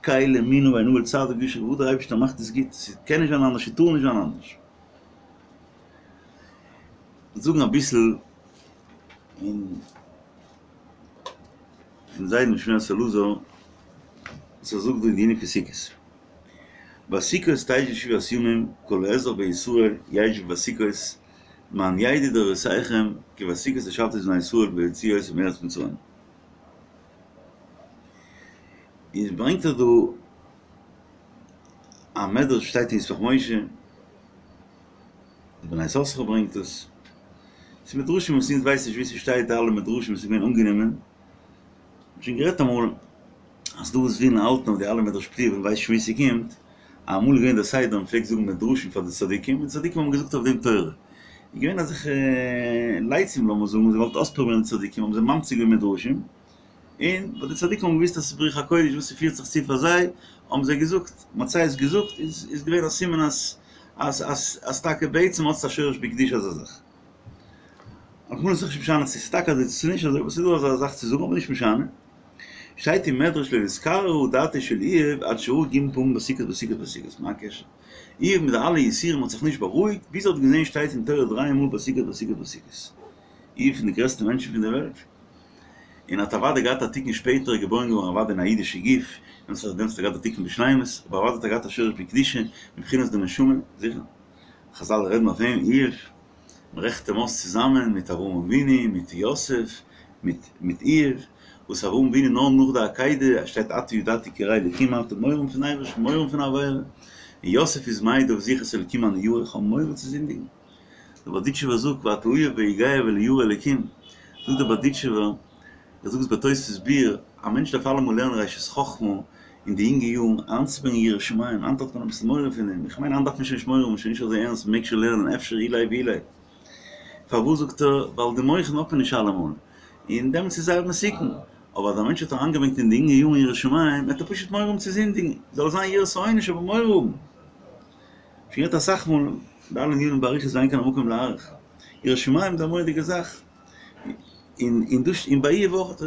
[SPEAKER 2] קל אמונה ואין עול צדיק וישר וואס דער אייבערשטער מאכט איז גוט, ס'קען נישט זיין אנדערש ס'טאר נישט זיין אנדערש. זאגן אביסל אין. פון זיידן שמירת אלעזר וואס ער זאגט דא אין די ענין פון סוכות. בסוכות תשבו שבעת ימים כל האזרח בישראל ישבו בסוכות למען ידעו דורותיכם כי בסוכות הושבתי את בני ישראל בהוציאי אותם מארץ מצרים. איז ברענגט ער דא א מדרש שטייט אין ישמח משה. די בני יששכר ברענגט עס. ס'איז מדרשים וואס אונז ווייסן נישט וואו ס'שטייט די אלע מדרשים וואס איז געווען אנגענומען. מ'האט שוין גערעדט אמאל אז דא וואס ווילן האלטן אויף די אלע מדרש פליאה ווען מ'ווייסט נישט וואו ס'קומט. אמאל איז געווען דער סדר מ'פלעגט זאגן מדרשים פאר די צדיקים און די צדיקים האבן געזאגט אויף דעם תורה. איז געווען אזעלכע לצים לאמיר זאגן זיי געוואלט אויספרובירן די צדיקים האבן זיי ממציא געווען מדרשים. און ווייל די צדיקים האבן געוואוסט אז ס'איז ברוח הקודש וואס ס'פירט זיך צו פאר זיי, האבן זיי געזאגט, מ'האט זיי עס געזאגט, איז איז געווען א סימן אז אז אז אז טאקע בעצם האט עס א שורש בקדושה אזא זאך. על כל פנים איז נישט משנה צו ס'איז טאקע אזוי צו ס'איז נישט אזוי, אבער ס'איז דא אזא זאך צו זאגן אבער נישט משנה. שטייט אין מדרש לא נתקררה דעתו של איוב עד שראה ג' פעמים בסוכות בסוכות בסוכות, מה הקשר? איוב מיט די אלע יסורים האט זיך נישט בארואיגט ביז ער האט געזען שטייט אין תורה דריי מאל בסוכות בסוכות בסוכות. איוב פון די גרעסטע מענטשן פון די וועלט. און האט אוודאי געהאט א תיקון שפעטער געבוירן געווארן אוודאי אין א אידישע גוף, דעמאלטס האט ער געהאט א תיקון בשלימות, אבער אוודאי האט ער געהאט א שורש בקדושה, מבחינת די נשמה, זיכער. חזל רעדן אויף אים, איוב, מ'רעכנט אים אויס צוזאמען מיט אברהם אבינו, מיט יוסף, מיט מיט איוב, וואס אברהם אבינו נאר נאך די עקידה, שטייט עתה ידעתי כי ירא אלקים אתה, מורא האבן פון אייבערשטן, מורא האבן פון עבירה, און יוסף איז מעיד אויף זיך את האלקים אני ירא, איך האב מורא צו זינדיגן. דער בארדיטשובער זאגט ואתה איוב ביגע ולא ירא אלקים, זאגט דער בארדיטשובער, ער זאגט עס בתוספות ביאור, א מענטש דארף אלעמאל לערנען ראשית חכמה אין די יונגע יארן איינצוברענגען יראת שמים, היינט האט מען אביסל מורא פון דעם, איך מיין היינט דארף מען שוין נישט מורא האבן, שוין נישט אזוי ערנסט, מען מעג שוין לערנען אפשר אולי ואולי. פארוואס זאגט ער, ווייל די מוחין האט מען נישט אלעמאל, און דעמאלטס איז זייער מסוכן, אבער אז א מענטש האט אריינגעברענגט אין די יונגע יארן יראת שמים, וועט ער פשוט מורא האבן צו זינדיגן, זאל זיין יראת העונש אבער מורא האבן. שוין גערעדט אסאך מאל די אלע ענינים באריכות ואין כאן המקום להאריך. יראת שמים איז א מורא'דיגע זאך. און און דאס און ביי איוב אויך,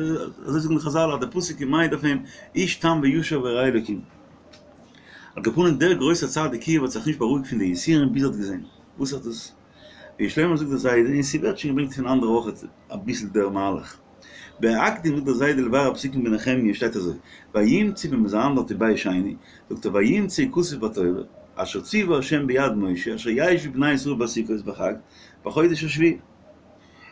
[SPEAKER 2] אזוי זאגן די חזל אז די פסוק איז מעיד אויף אים, איש תם וישר וירא אלקים. על כל פנים דער גרויסער צדיק איוב האט זיך נישט בארואיגט פון די יסורים ביז ער האט געזען. וואס האט עס? ויש לומר זאגט דער זיידע, און ס'ווערט שוין געברענגט פון אנדערע אויך אביסל דער מהלך. בהקדים זאגט דער זיידע לבאר הפסוקים בנחמיה שטייט אזוי, וימצאו ווען מ'איז אריין דארט אין בית שני, זאגט ער וימצאו כתוב בתורה, אשר ציווה ה' ביד משה אשר ישבו בני ישראל בסוכות בחג בחודש השביעי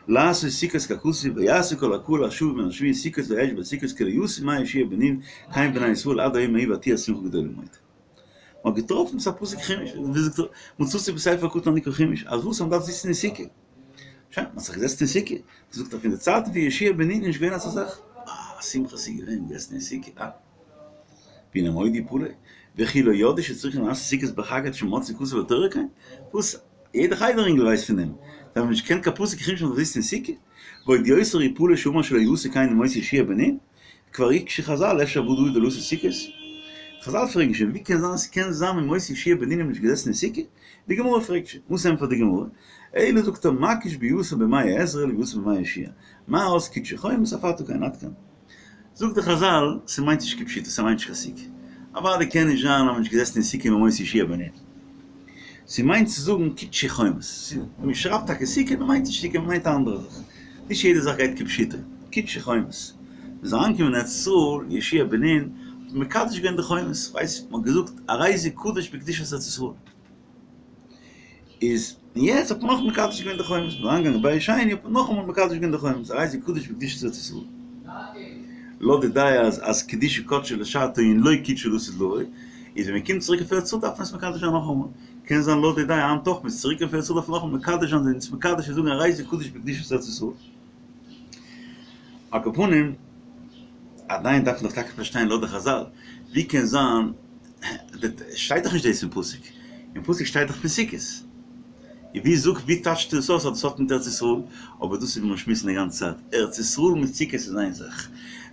[SPEAKER 2] לעשות סוכות ככתוב ויעשו כל הקהל השב מן השבי סוכות וישבו בסוכות כי לא עשו מימי יהושע בן נון כן בני ישראל עד היום ההוא ותהי השמחה גדולה מאוד. מ'האט געטראפן ס'איז א פסוק חומש, ווי זאגט ער, מצאתי בספר קטן הנקרא חומש, אז וואס אז מ'דארף זיצן אין סוכה. שוין, מ'האט זיך געזעצט אין סוכה, זאגט ער פון די צייטן פון יהושע בן נון איז נישט געווען אזא זאך, אה, א שמחה ס'איז געווען, געזעסן אין סוכה, אה. והנה מאוד יפלא, וכי לא ידעו שצריכים לעשות סוכות בחג עד שמצאו כתוב בתורה כן? וואס? יעדע חדר אינגל ווייסט פון דעם, זיי האבן נישט געקענט קיין פסוק חומש מ'זאל זיצן אין סוכה? ועוד יותר יפלא שאמר שלא עשו כן מימות יהושע בן נון, כבר הקשו חזל אפשר בא דוד ולא עשה סוכות? חזל פרעגן שוין ווי קען זיין ס'קען זיין מימות יהושע בן נון איז נישט געזעסן אין סוכה? די גמרא פרעגט שוין, וואס ענטפערט די גמרא? אלא זאגט ער מקיש ביאתן בימי עזרא לביאתן בימי יהושע, מה אז קידשו חומות אף עתה כן עד כאן. זאגט די חזל, ס'מיינט נישט כפשוטו, ס'מיינט נישט קיין סוכה. אוודאי קען נישט זיין אז מ'איז נישט געזעסן אין סוכה מימות יהושע בן נון. ס'מיינט צו זאגן קידשו חומות. מ'שרייבט טאקע סוכה, מ'מיינט נישט סוכה, מ'מיינט א אנדערע זאך. נישט יעדע זאך גייט כפשוטו. קידשו חומות. מ'איז אריינגעקומען אין ארץ ישראל, יהושע בן נון האט מקדש געווען די חומות. כ'ווייס, מ'האט געזאגט הרי זה קדוש בקדושת ארץ ישראל. איז און יעצט האט מען נאך מקדש געווען די חומות, מ'איז אריינגעגאנגען בית שני האט מען נאכאמאל מקדש געווען די חומות, הרי זה קדוש בקדושת ארץ ישראל. לויט די דעה אז אז קדושה קדשה לשעתה און לא קדשה לעתיד לבוא, איז ווען מ'קומט צוריק אויף ארץ ישראל דארף מען עס מקדש זיין נאכאמאל. קען זיין לויט די דעה היינט אויך, מ'איז צוריק אויף ארץ ישראל דארף מען נאכאמאל מקדש זיין, זענען אונז מקדש און זאגן הרי זה קדוש בקדושת ארץ ישראל. על כל פנים, עדיין דארף מען דאך טאקע פארשטיין לויט די חזל, ווי קען זיין שטייט דאך נישט דאס אין פסוק, אין פסוק שטייט דאך פון סוכות. און ווי זאגט ווי טייטשט עס אויס אז דאס האט מיט ארץ ישראל? אבער דאס איז ווי מיר שמועסן די גאנצע צייט, ארץ ישראל מיט סוכות איז איין זאך.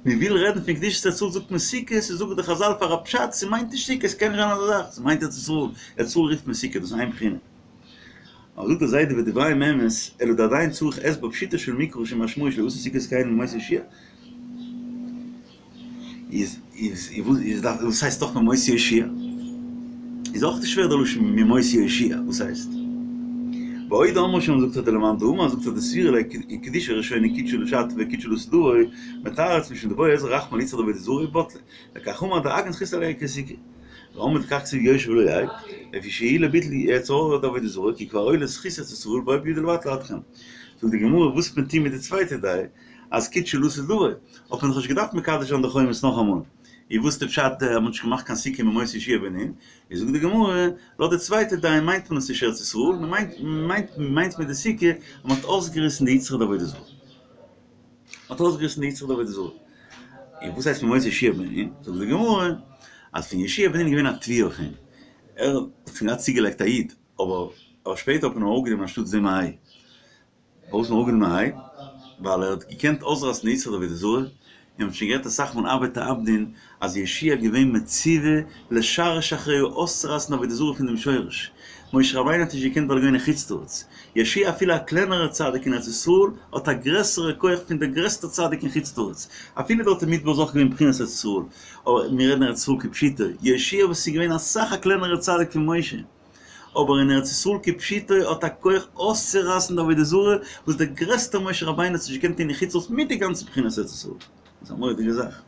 [SPEAKER 2] מען וויל רעדן פון קדושת ארץ ישראל זאגט מען סוכות, און זאגן די חזל פאר א פשט, ס'מיינט נישט סוכות, ס'קען נישט זיין אזא זאך, ס'מיינט ארץ ישראל, ארץ ישראל רופט מען סוכה, דאס איז איין בחינה. אבער זאגט דער זיידע ודבריהם אמת, אלא דעדיין צריך הסבר פשוטו של מקרא שמשמעו שלא עשו סוכות כן מימות יהושע. איז איז איז דארף וואס הייסט דאך מימות יהושע? איז אויך נישט שווער דער לשון מימות יהושע, וואס הייסט? ועוד אמרו שם זאגט ער דלמאן דאמר זאגט ער דסבירא ליה קדושה ראשונה קדשה לשעתה וקידשה לעתיד לבוא מתרץ משום דבעי עזרא רחמי ליצרא דעבודה זרה ובטלה לכך אמר דאגנז זכות עליה כסוכה ואמרי לכך כתיב יושב ולא יהא לפי שהוא לביטול יצר הרע דעבודה זרה כי כבר היה לו זכות ארץ ישראל והיה בידו לבטלה עד כאן זאגט די גמרא וואס מען טוהן מיט די צווייטע דעה אז קידשה לעתיד לבוא, האט מען דאך נישט געדארפט מקדש זיין די חומות נאכאמאל, איז וואס די פשט אז מען האט נישט געמאכט קיין סוכה מימות יהושע בן נון, איז זאגט די גמרא, לויט די צווייטע דעה מיינט מען עס נישט ארץ ישראל, מען מיינט מיינט מיינט מיט די סוכה אז מען האט אויסגעריסן די יצרא דעבודה זרה. מען האט אויסגעריסן די יצרא דעבודה זרה. און וואס הייסט מימות יהושע בן נון? זאגט די גמרא, אז פון יהושע בן נון איז געווען א תביעה אויף אים, ער האט שוין געהאט צוגעלייגט א יו"ד, אבער שפעטער האט מען אים אראפגענומען אנשטאטס דעם א ה"א. פארוואס האט מען אראפגענומען א ה"א? ווייל ער האט געקענט אויסרייסן די יצרא דעבודה זרה, און מ'האט שוין גערעדט אסאך מאל אבד תאבדון אז יהושע איז געווען מצווה לשרש אחריה אויסצורייסן עבודה זרה פון דעם שורש. משה רבינו האט נישט געקענט ווייל ער איז געווען אין חוץ לארץ. יהושע אפילו א קלענערע צדיק אין ארץ ישראל האט א גרעסערע כח פון דער גרעסטער צדיק אין חוץ לארץ. אפילו דארט אין מדבר איז אויך געווען בחינת ארץ ישראל. אבער מיר רעדן ארץ ישראל כפשוטו. יהושע וואס איז געווען אסאך א קלענערע צדיק פון משה. אבער אין ארץ ישראל כפשוטו האט א כח אויסצורייסן די עבודה זרה וואס דער גרעסטער משה רבינו האט נישט געקענט טון אין חוץ לארץ מיט די גאנצע בחינת ארץ ישראל. דאס איז א מורא'דיגע זאך.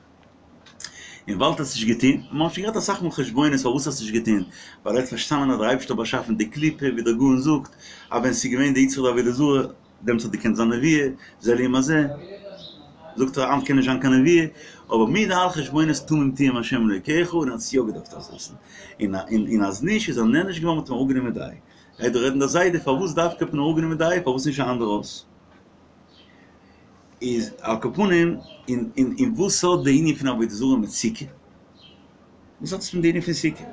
[SPEAKER 2] און ווייל ער האט עס נישט געטון, מען האט שוין געהאט אסאך מאל חשבונות פארוואס ער האט עס נישט געטון, ווייל ער האט פארשטאנען אז דער אייבערשטער האט באשאפן די קליפה, ווי דער גאון זאגט, אז ווען ס'איז געווען די יצרא דעבודה זרה, דעמאלטס האט געקענט זיין נבואה, זה לעומת זה, זאגט ער היינט קען נישט זיין קיין נבואה, אבער מיט די אלע חשבונות תמים תהיה עם השם אלוקיך, און ער האט עס יא געדארפט אויסרייסן, און אז נישט איז ער נענש געווארן מ'האט אים אראפגענומען די איי. גייט דא רעדן דער זיידע פארוואס דווקא האט מען אראפגענומען די איי, פארוואס נישט א אנדערע אות? איז על כל פנים, און און און וואס האט די ענין פון עבודה זרה מיט סוכה? וואס האט עס מיט די ענין פון סוכה?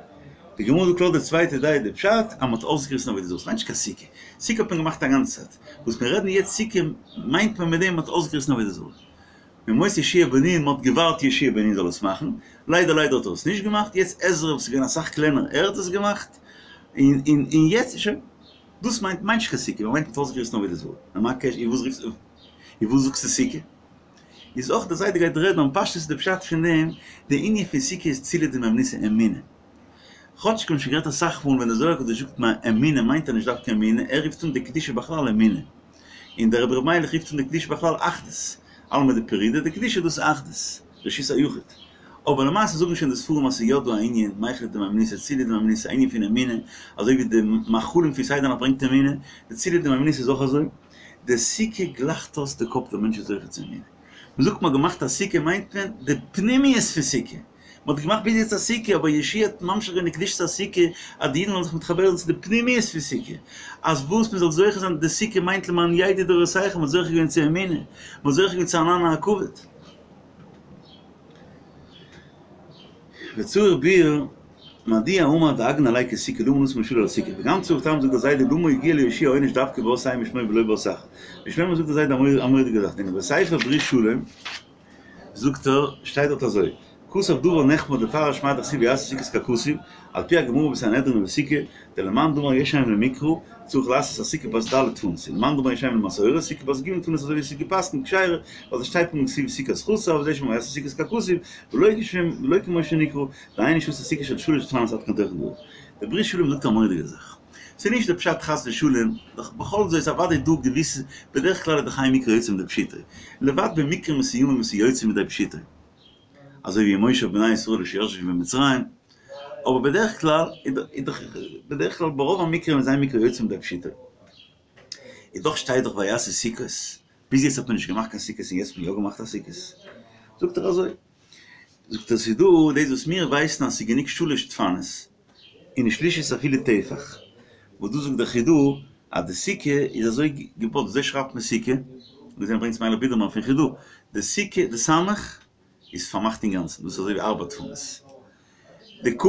[SPEAKER 2] די גמרא זאגט לויט די צווייטע דעה די פשט אז מען האט אויסגעריסן עבודה זרה, ס'מיינט נישט קיין סוכה, סוכה האט מען געמאכט א גאנצע צייט, וואס מיר רעדן יעצט סוכה מיינט מען מיט דעם מען האט אויסגעריסן עבודה זרה. מימות יהושע בן נון, מען האט געווארט יהושע בן נון זאל עס מאכן, ליידער ליידער האט ער עס נישט געמאכט, יעצט עזרא וואס איז געווען אסאך קלענער ער האט עס געמאכט, און און און יעצט שוין. דאס מיינט מיינט נישט קיין סוכה, מען מיינט מ'האט אויסגעריסן עבודה זרה. נו מה הקשר, און וואס רופסטו, און וואס זאגסטו סוכה? איז אויך די זיידע גייט רעדן און פשטות איז די פשט פון דעם, די ענין פון סוכה איז צילא דמהימנותא אמונה. כאטש כ'האב שוין גערעדט אסאך מאל ווען די זוהר הקדוש זאגט אמונה מיינט ער נישט דווקא אמונה, ער רופט אן די קדושה בכלל אמונה. און דער רבי ר' מיילעך רופט אן די קדושה בכלל אחדות. אלמא דפרידא, די קדושה דאס איז אחדות, רשות היחיד. אבער למעשה זאגן שוין די ספרים אז ס'איז יא דא א ענין, מיכלא דמהימנותא, צילא דמהימנותא, א ענין פון אמונה, אזוי ווי די מאכלים פון סדר נאכט ברענגט אמונה, די צילא דמהימנותא איז אויך אזוי, די סוכה גלייכט אויס די קאפ דער מענטש איז זוכה צו אמונה. מ'זאגט מ'האט געמאכט א סוכה מיינט מען די פנימיות פון סוכה, מ'האט געמאכט ביז יעצט א סוכה אבער יהושע האט ממשיך געווען די קדושת הסוכה אז די אידן זאלן זיך מתחבר זיין צו די פנימיות פון סוכה, אז וואס מ'זאל זוכה זיין די סוכה מיינט למען ידעו דורותיכם, מ'האט זוכה געווען צו אמונה, מ'האט זוכה געווען צו ענני הכבוד. וצריך ביאור, מדוע אמר דאגנא עליה כסוכה למה נתן משלו לסוכה, וגם צריך טעם זאגט דער זיידע למה הגיע ליהושע העונש דווקא באות ה' משמו ולא באות אחר, ויש לומר זאגט דער זיידע א מורא'דיגע זאך, דהנה בספר ברית שלום זאגט ער, שטייט דארט אזוי, כתב דבר נחמד לפרש מאי דכתיב ויעשו סוכות ככתוב, על פי הגמרא בסנהדרין ובסוכה, דלמאן דאמר יש אם למקרא, צריך לעשות הסוכה בת ד' דפנות, ולמאן דאמר יש אם למסורת, סוכה בת ג' דפנות אזוי ווי עס איז געפסקנט כשרה, ווייל עס שטייט פונקט כתיב סוכת חסר, וזה שאמר ויעשו סוכות ככתוב, ולא כמו שנקרא, דהיינו שעשו סוכה של שלש דפנות עד כאן תוכן דבריו. דער ברית שלום זאגט א מורא'דיגע זאך. ס'איז נישט די פשט חס ושלום, דאך בכל זאת איז אוודאי דא געוויסע, בדרך כלל איז דאך אין מקרא יוצא מידי פשוטו, לבד במקרים מסוימים וואס איז יוצא מידי פשוטו, אזוי ווי מושב בני ישראל שישבו במצרים, אבער בדרך כלל איז דאך בדרך כלל ברוב המקרים איז אין מקרא יוצא מידי פשוטו. איז דאך שטייט דאך ויעשו סוכות, ביז יעצט האט מען נישט געמאכט קיין סוכות און יעצט האט מען יא געמאכט א סוכות. זאגט ער אזוי, זאגט ער ס'איז דא דאס וואס מיר ווייסן אז ס'איז גענוג שלש דפנות, און שלישית אפילו טפח, וואס דא זאגט דער חידא אז די סוכה איז אזוי געבויט, אזוי שרייבט מען סוכה, און ברענגט מיילעך בידערמאן פון חידא, די סוכה די סמך איז פארמאכט אינגאנצן, דאס איז אזוי ווי ארבע דפנות, די כ'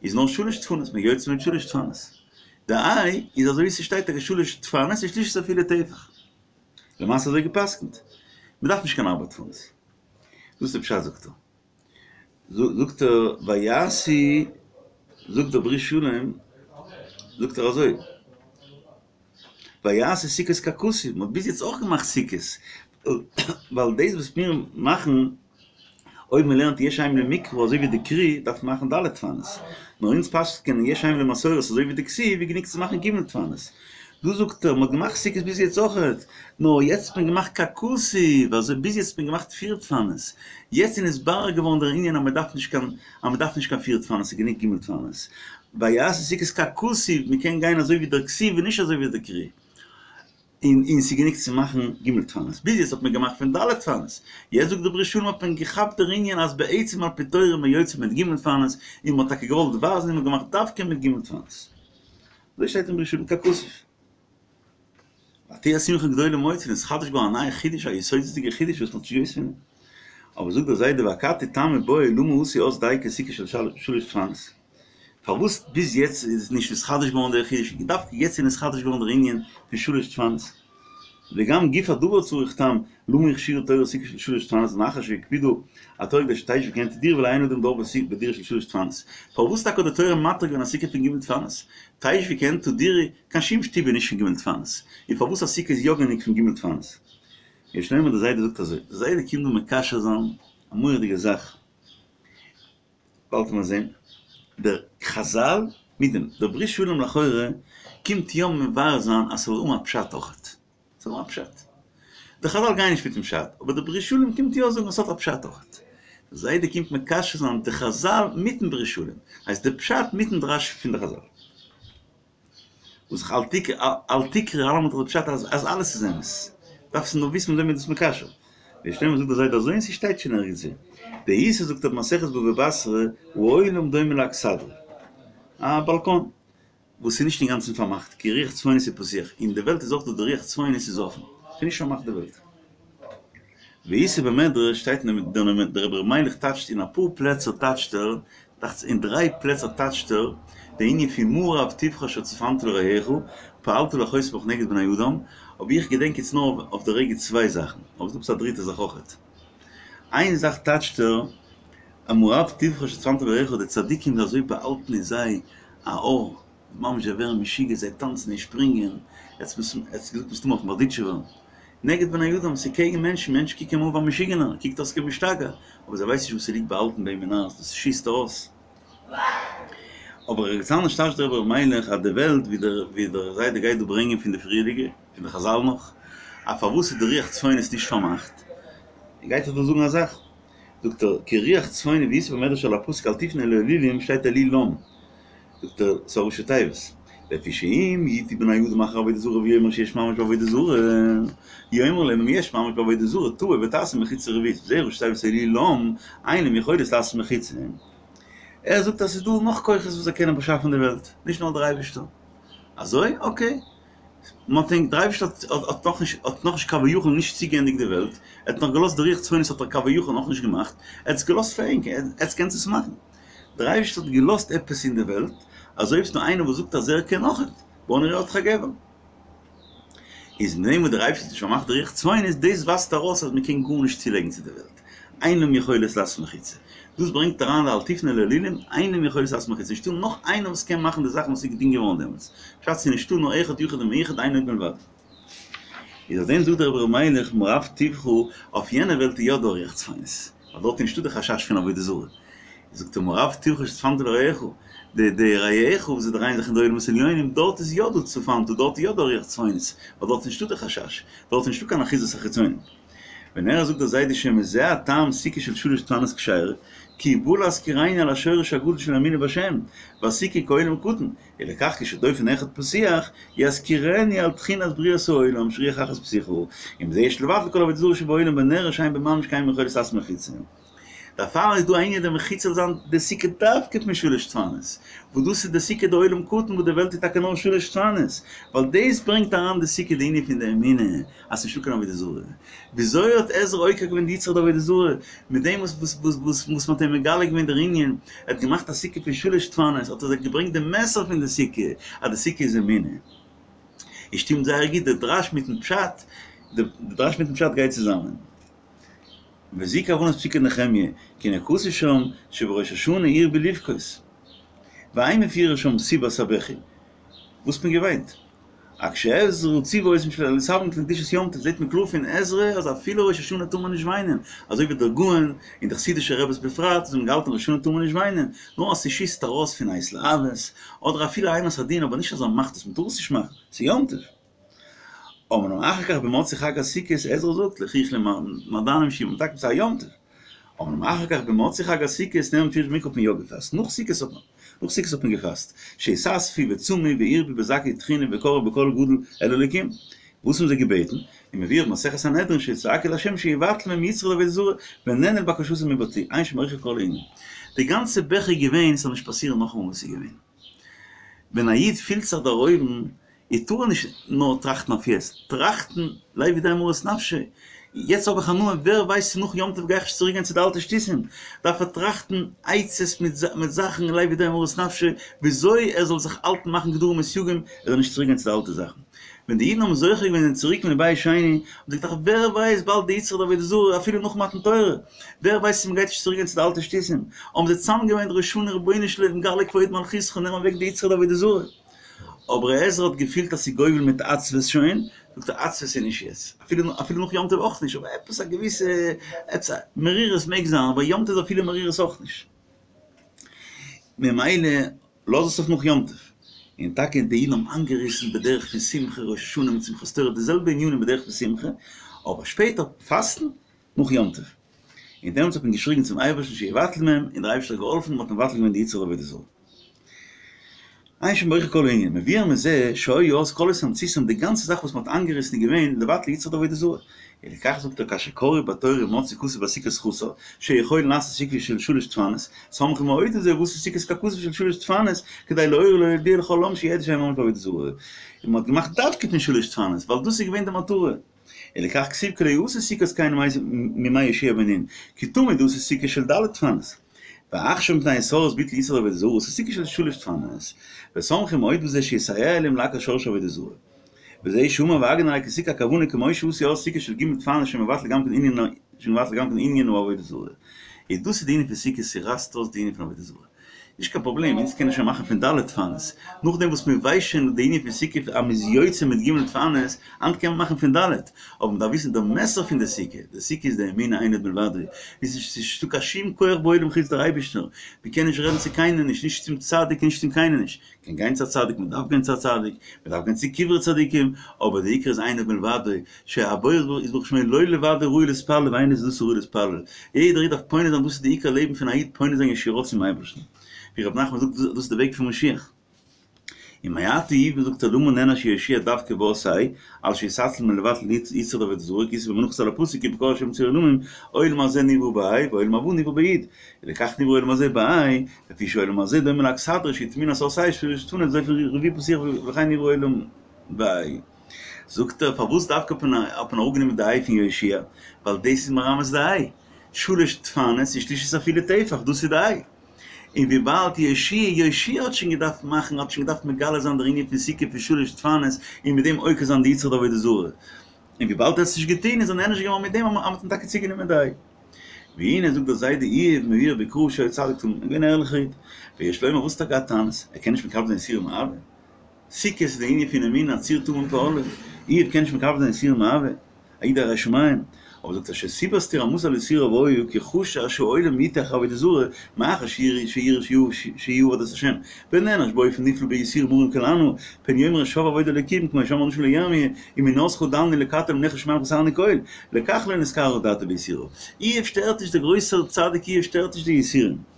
[SPEAKER 2] איז נאר שלש דפנות, מען יוצא מיט שלש דפנות, די ה' איז אזוי ווי ס'שטייט טאקע שלש דפנות און שלישית אפילו טפח, למעשה אזוי גע'פסק'נט, מען דארף נישט קיין ארבע דפנות, דאס איז די פשט זאגט ער. זאגט ער ויעשו, זאגט דער ברית שלום, זאגט ער אזוי, ויעשו סוכות ככתוב, מען האט ביז יעצט אויך געמאכט סוכות, ווייל דאס וואס מיר מאכן, אויב מען לערנט יש אם למקרא אזוי ווי די קרי, דארף מען מאכן ד' דפנות, נאר אונז פסק'ענען יש אם למסורת אזוי ווי די כתיב, איז גענוג צו מאכן ג' דפנות. דא זאגט ער, מען האט געמאכט סוכות ביז יעצט אויכעט, נאר יעצט האט מען געמאכט ככתוב, אזוי ביז יעצט האט מען געמאכט פיר דפנות, יעצט איז נתברר געווארן דער ענין אז מען דארף נישט קיין אז מען דארף נישט קיין פיר דפנות, ס'איז גענוג ג' דפנות. ויעשו סוכות ככתוב, מען קען גיין אזוי ווי דער כתיב און נישט אזוי ווי דער קרי. און און ס'איז גענוג צו מאכן ג' דפנות. ביז יעצט האט מען געמאכט פון ד' דפנות. יעצט זאגט דער ברית שלום האט מען געכאפט דער ענין אז בעצם על פי תורה מען יוצא מיט ג' דפנות, און מען האט טאקע געוואלט ווייזן און מען האט געמאכט דווקא מיט ג' דפנות. אזוי שטייט אין ברית שלום ככתוב. ותהי השמחה גדולה מאוד, ס'איז נתחדש געווארן א נייע חידוש, א יסודות'דיגע חידוש וואס מ'האט נישט געוואוסט פון דעם. אבער זאגט דער זיידע ואכתי טעמא בעי למה עשו אז דייקא סוכה של שלש דפנות? פארוואס ביז יעצט איז נישט נתחדש געווארן דער חידוש, דווקא יעצט איז נתחדש געווארן דער ענין פון שלש דפנות? וגם גוף הדבר צריך טעם, למה הכשירה תורה סוכה של שלש דפנות מאחר שהקפידו התורה כדי שתשבו כעין תדירה ולא אין אדם דר בדירה של שלש דפנות. פארוואס טאקע האט די תורה מתיר געווען א סוכה פון ג' דפנות? תשבו כעין תדירה, קיין שום שטוב איז נישט פון ג' דפנות. און פארוואס א סוכה איז יא גענוג פון ג' דפנות? יש לומר די זיידע זאגט אזוי, די זיידע קומט דא מקשר זיין א מורא'דיגע זאך, באלד וועט מען זען דער חזל מיט דעם דער ברית שלום לכאורה קומט יא מבאר זיין אז ס'זאל האבן א פשט אויכעט, ס'זאל האבן א פשט. די חזל גייען נישט מיטן פשט, אבער דער ברית שלום קומט יא זאגן אז ס'האט א פשט אויכעט. דער זיידע קומט מקשר זיין די חזל מיטן ברית שלום, הייסט די פשט מיטן דרש פון די חזל. וואס איך אל תקרי אלעמאל דאך די פשט אז אלעס איז אמת, דארפסט נאר וויסן מיט וועם מ'איז דאס מקשר. ויש לומר זאגט דער זיידע אזוי און ס'שטייט שוין ערגעץ וואו. דאיתא זאגט ער במסכת בבא בתרא העולם דומה לאכסדרה, א באלקאן וואס איז נישט אינגאנצן פארמאכט כי רוח צפונית הוא פתוח, אין די וועלט איז אויך דא די רוח צפונית איז אפן, ס'איז נישט פארמאכט די וועלט. ואיתא במדרש שטייט אין דער רבי ר' מיילעך טייטשט אין אפאר פלעצער טייטשט ער, דאכט זיך אין דריי פלעצער טייטשט ער די ענין פון מה רב טובך אשר צפנת לרעך פעלת לחוספך נגד בני אדם, אבער איך געדענק יעצט נאר אויף די רגע צוויי זאכן, אבער ס'דא עפעס א דריטע זאך אויכעט. איין זאך טייטשט ער אז מה רב טובך אשר צפנת לרעך די צדיקים איז אזוי באהאלטן אין זיי א אור, ממש זיי ווערן משוגע זיי טאנצן און שפרינגען, ער האט געזאגט מסתמא אויפן בארדיטשובער, נגד בני אדם, ס'איז קעגן מענטשן, מענטשן קוקן אים אן ווי א משוגענער, קוקט אויס כמשתגע, אבער זיי ווייסן נישט וואס ס'ליגט באהאלטן ביי אים אין הארץ, דאס שיסט ארויס. אבער ערגעץ אנדערש טייטשט דער רבי ר' מיילעך אז די וועלט, ווי דער ווי דער זיידע גייט דא ברענגען פון די פריערדיגע, פון די חזל נאך, אז פארוואס איז די רוח צפונית נישט פארמאכט, גייט ער דא זאגן א זאך, זאגט ער, כי רוח צפונית ואיתא במדרש על הפסוק אל תפנה אל האלילים שטייט אלילם. זאגט ער, ס'איז א ראשי תיבות. לפי שאם יטעו בני אדם אחר עבודה זרה ויאמר שיש ממש בעבודה זרה, יאמר להם אם יש ממש בעבודה זרה תבוא ותעשה מחיצה רביעית, וזה ראשי תיבות אלילם, אין להם יכולת לעשות מחיצה. ער זאגט אז ס'איז דא נאך כוחות וואס זיי קענען באשאפן די וועלט, נישט נאר דער אייבערשטער. אזוי? אקעי. מען האט ענק, דער אייבערשטער האט נאכנישט, האט נאכנישט כביכול נישט צוגעענדיגט די וועלט, ער האט נאך געלאזט די רוח צפונית האט ער כביכול נאכנישט געמאכט, ער האט עס געלאזט פאר ענק, עטס קענטס עס מאכן. דער אייבערשטער האט געלאזט עפעס אין די וועלט, אז אויב ס'דא איינער וואס זאגט אז ער קען אויכעט, בוא נראה אותך גבר. איז מיט דעם וואס דער אייבערשטער האט נישט פארמאכט די רוח צפונית, דאס ווייזט ארויס אז מ'קען גארנישט צולייגן צו די וועלט, אין להם יכולת לעשות מחיצה. דאס ברענגט אריין די אל תפנה אל האלילים, אין להם יכולת לעשות מחיצה, נישטא נאך איינער וואס קען מאכן די זאכן וואס איז געטון געווארן דעמאלטס, פשט ס'איז נישטא נאר אחד יחיד ומיוחד אין עוד מלבדו. איז אויף דעם זאגט דער רבי ר' מיילעך מה רב טובך, אויף יענע וועלט איז יא דא רוח צפונית, ווייל דארט איז נישטא די חשש פון עבודה זרה, זאגט ער מה רב טובך שצפנת לרעך, די די רעך וואס זיי דרייען זיך אין די עולמות עליונים, דארט איז יא דא צפנת, דארט איז יא דא רוח צפונית, ווייל דארט איז נישטא די חשש, דארט איז נישטא קיין אחיזת החיצונים. ונראה זאגט דער זיידע שמזה הטעם סוכה של שלש דפנות כשרה, כי בא להזכירנו על השורש הגדול של אמונה בשם, והסוכה כעולם קטן, ולכך כשדופן אחד פתוח, יזכירנו על תחילת בריאת העולם שרוח אחת פתוחה, ומזה יש לבטל כל עבודה זרה שבעולם ונראה שאין בממש קיין יכולת לעשות מחיצה. דערפאר איז דא א ענין די מחיצה זאל זיין די סוכה דווקא פון שלש דפנות, וואס דאס איז די סוכה דעולם קטן וואס די וועלט איז טאקע נאר שלש דפנות, ווייל דאס ברענגט אריין די סוכה די ענין פון די אמונה אז ס'נישטא קיין עבודה זרה. וויאזוי האט עזרא עוקר געווען די יצרא דעבודה זרה? מיט דעם וואס וואס וואס וואס וואס מ'האט אים מגלה געווען דער ענין, ער האט געמאכט א סוכה פון שלש דפנות, האט ער זיי געברענגט די מסר פון די סוכה, אז די סוכה איז אמונה. עס שטימט זייער גוט די דרש מיטן פשט, די דרש מיטן פשט גייט צוזאמען. וזו כוונת פסוקי נחמיה, כי הנה כתוב שם שבראש השנה הרבו לבכות. ואין מפורש שם סיבת הבכי. וואס האט מען געוויינט? אך שעזרא ציוה אותם שלא להתאבל מפני קדושת יום טוב זעט מען קלאר פון עזרא אז אפילו ראש השנה טאר מען נישט וויינען, אזוי ווי דער גאון און די חסידישע רעבעס בפרט וואס האבן געהאלטן ראש השנה טאר מען נישט וויינען, נאר אז ס'שיסט ארויס פון התלהבות, אדער אפילו אימת הדין אבער נישט אז ער מאכט עס, מ'טאר עס נישט מאכן, ס'איז יום טוב. אמנם אחר כך במוצאי חג הסוכות עזרא זאגט לכו אכלו מעדנים שתו ממתקים ס'איז א יום טוב. אמנם אחר כך במוצאי חג הסוכות נאמר במפורש במקרא האט מען יא געפאסט, נאך סוכות האט מען נאך סוכות האט מען געפאסט, שהתאספו וצמו והרבו בזעקה וטחינה וקראו בקול גדול אל האלוקים, וואס האבן זיי געבעטן? ומבואר במסכת סנהדרין שצעקו לה' שיבטל מהם יצרא דעבודה זרה ונענו לבקשתם ובטלו, עיין שם באריכות כל הענין. די גאנצע בכי איז געווען ס'זאל נישט פאסירן נאכאמאל וואס איז געווען. ווען א איד פילט זיך דערהויבן איז טאר ער נישט נאר טראכטן אויף יעצט, טראכטן לב יודע מרת נפשו, יעצט האב איך הנאה, ווער ווייסט צו נאך יום טוב גיי איך נישט צוריק גיין צו די אלטע שטותים, דארף ער טראכטן עצות מיט זאכן לב יודע מרת נפשו, וויאזוי ער זאל זיך האלטן מאכן גדרים וסייגים ער זאל נישט צוריק גיין צו די אלטע זאכן. ווען די אידן האבן זוכה געווען זענען צוריק פון די בית שני, האבן זיי געטראכט ווער ווייסט באלד די יצרא דעבודה זרה אפילו נאך מתן תורה, ווער ווייסט צו מ'גייט נישט צוריק גיין צו די אלטע שטותים, האבן זיי צוזאמגעוויינט ראש השנה רבונו של עולם גלה כבוד מלכותך נעם אוועק די יצרא דעבודה זרה. אבער עזרא האט געפילט אז ס'איז גובל מיט עצבות שוין, זאגט ער עצבות איז נישט יעצט, אפילו אפילו נאך יום טוב אויך נישט, אבער עפעס א געוויסע עפעס א מרירות מעג זיין, אבער יום טוב איז אפילו מרירות אויך נישט. ממילא לאז עס אויף נאך יום טוב. און טאקע די אידן האבן איינגעריסן בדרך פון שמחה ראש השנה מיט שמחת תורה די זעלבע ענינים בדרך פון שמחה, אבער שפעטער פאסטן נאך יום טוב. און דעמאלטס האט מען געשריגן צום אייבערשטן שיבטל מהם, און דער אייבערשטער האט געהאלפן און מען האט מבטל געווען די יצרא דעבודה זרה. עיין שם באריכות כל הענין, מבואר מזה שהיו אז כל התמצותם די גאנצע זאך וואס מען האט איינגעריסן איז געווען לבטל יצרא דעבודה זרה. ולכך זאגט ער כאשר קראו בתורה ומצאו כתוב בסוכות חסר, שיכול לעשות סוכה של שלש דפנות, סמכו מאוד לזה ועשו סוכות ככתוב של שלש דפנות, כדי להורות ולהודיע לכל העם שידעו שהם ממש בעבודה זרה. און מען האט געמאכט דווקא פון שלש דפנות, ווייל דאס איז געווען די מטרה. ולכך כתיב כי לא יעשו סוכות כן מימי יהושע בן נון, כי תמיד עשו סוכה של ד' דפנות. ועכשיו מפני התעוררות ביטול יצרא דעבודה זרה עשו סוכה של שלש דפנות. וסומכים מאוד בזה שיסייע להם לעקור שורש עבודה זרה. וזה שאמר והגן עלי כי סוכה הכוונה כמו שעשו אז סוכה של ג' דפנות שמבטל גם כן ענין שמבטל גם כן ענין העבודה זרה. איז דאס איז די ענין פון סוכה ס'רייסט אויס די ענין פון עבודה זרה. נישט קיין פראבלעם, אונז קענען שוין מאכן פון ד' דפנות. נאכדעם וואס מען ווייסט שוין די ענין פון סוכה אז מען איז יוצא מיט ג' דפנות, היינט קען מען מאכן פון ד'. אבער מען דארף וויסן די מסר פון די סוכה, די סוכה איז די אמונה אין עוד מלבדו, איז נישט נישטא קיין שום כח בעולם חוץ דער אייבערשטער, מען קען נישט רעדן צו קיינעם נישט, נישט צום צדיק נישט צום קיינעם נישט, מען קען גיין צו א צדיק, מען דארף גיין צו א צדיק, מען דארף גיין צו קברי צדיקים, אבער די עיקר איז אין עוד מלבדו, שהבורא יתברך שמו לו לבדו ראוי להתפלל ואין עזרתו ראוי להתפלל, יעדער איד דארף פונה זיין דאס איז די עיקר לעבן פון א איד פונה זיין ישירות צום אייבערשטן, ווי ר' נחמן זאגט דאס איז די וועג פון משיח. ומעתה יובן זאגט ער למה נענש יהושע דווקא באות ה' על שהתעצל מלבטל יצרא דעבודה זרה כי איתא במנחות על הפסוק כי בקור השם צור עולמים עולם הזה נברא בה' ועולם הבא נברא בי' ולכך נברא עולם הזה בה' לפי שעולם הזה דומה לאכסדרה שהיא טמונת אות ה' שלש דפנות דופן רביעי פתוח וכן נברא עולם בה' זאגט ער פארוואס דווקא האט מען אראפגענומען די ה' פון יהושע ווייל דאס איז מרמז די ה' שלש דפנות איז שלישית אפילו טפח דאס איז די ה'. און וויבאלד יהושע יהושע האט שוין געדארפט מאכן האט שוין געדארפט מגלה זיין דער ענין פון סוכה פון שלש דפנות און מיט דעם עוקר זיין די יצרא דעבודה זרה, און וויבאלד ער האט עס נישט געטון איז ער נענש געווארן מיט דעם אז מ'האט אים טאקע צוגענומען די ה'. והנה זאגט דער זיידע איוב מבואר בקרא שהיה צדיק תמים, געווען א ערליכער איד, ויש לומר וואס טאקע א טענות, ער קען נישט מקבל זיין יסורים מאהבה? סוכה איז די ענין פון אמונה א צור תמים פעלו, איוב קען נישט מקבל זיין יסורים מאהבה? א איד א ירא שמים, אבער זאגט ער שסיבת תרעמתו על יסוריו היה כי חשש שהעולם יטעה אחר עבודה זרה מאחר שיראה שיאבד את השם ונענש באופן נפלא ביסורים מרים כלענה פן יאמר שוא עבוד אלוקים כמו שאמרו אנשים לירמיה אם אמונתך דלני לקטו למלך שמים חסרני כל לכך לא נתקררה דעתו ביסוריו איוב שטערט נישט דער גרויסער צדיק איוב שטערט נישט די יסורים.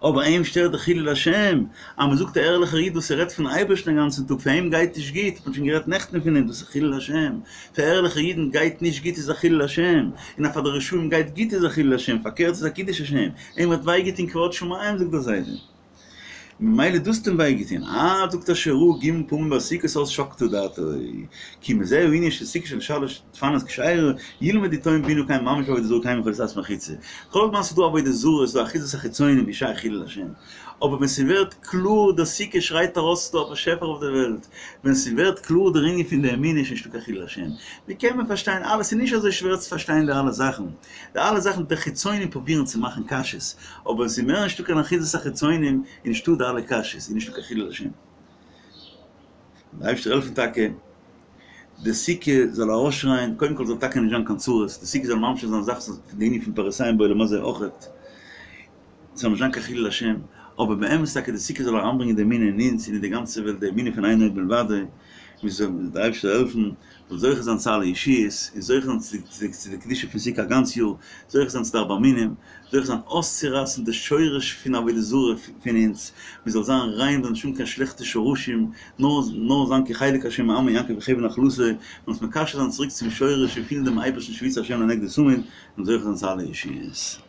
[SPEAKER 2] אבער אים שטערט די חילול השם, אז מען זאגט א ערליכער איד וואס ער רעדט פון אייבערשטן א גאנצן טאג, פאר אים גייט נישט גוט, האט מען שוין גערעדט נעכטן פון דעם, דאס איז חילול השם, פאר ערליכע אידן גייט נישט גוט איז א חילול השם, און אז פאר די רשעים גייט גוט איז א חילול השם, פארקערט איז א קידוש השם, אים האט וויי געטון כבוד שמים זאגט דער זיידע, ממילא דאס האט אים וויי געטון, עד זאגט ער שראה ג' פעמים בסוכות אז שקטה דעתו, כי מזה הענין של סוכה של שלש דפנות כשרה, ילמדו טועים בינה כי הם ממש בעבודה זרה קיימים יכולת לעשות מחיצה. כל זמן ס'איז דא עבודה זרה איז דא אחיזת החיצונים איז שייך חילול השם. אבער ווען ס'ווערט קלאר די סוכה שרייט ארויס ס'איז דא א באשעפער אויף די וועלט, ווען ס'ווערט קלאר דער ענין פון די אמונה איז נישטא קיין חילול השם. ווי קען מען פארשטיין אלעס? ס'איז נישט אזוי שווער צו פארשטיין די אלע זאכן. די אלע זאכן די חיצונים פרובירן צו מאכן קשיות, אבער ווען ס'איז מער נישטא קיין אחיזת החיצונים איז נישטא די אלע קשיות, איז נישטא קיין חילול השם. דער אייבערשטער העלפן טאקע די סוכה זאל ארויסשרייען, קודם כל זאל טאקע נישט זיין קיין צרות, די סוכה זאל ממשיך זיין זאכן פון די ענין פון פירותיהם בעולם הזה אויכעט, ס'זאל נישט זיין קיין חילול השם, אבער באמת טאקע די סוכה זאל אריינברענגען די אמונה אין אונז און אין די גאנצע וועלט, די אמונה פון אין עוד מלבדו, מיר זאלן דער אייבערשטער העלפן זאל זוכה זיין צו אלע ישועות, און זוכה זיין צו די קדושה פון סוכה א גאנץ יאר, זוכה זיין צו די ארבעה מינים, זוכה זיין אויסצורייסן די שורש פון עבודה זרה פון אונז, מען זאל זיין ריין זאל נישט האבן קיין שלעכטע שורשים, נאר נאר זיין כי חלק השם מעמו יעקב חבל נחלתו, און אונז מקשר זיין צוריק צום שורש און פילן דעם אייבערשטן שויתי השם לנגדי תמיד, און זוכה זיין צו אלע ישועות.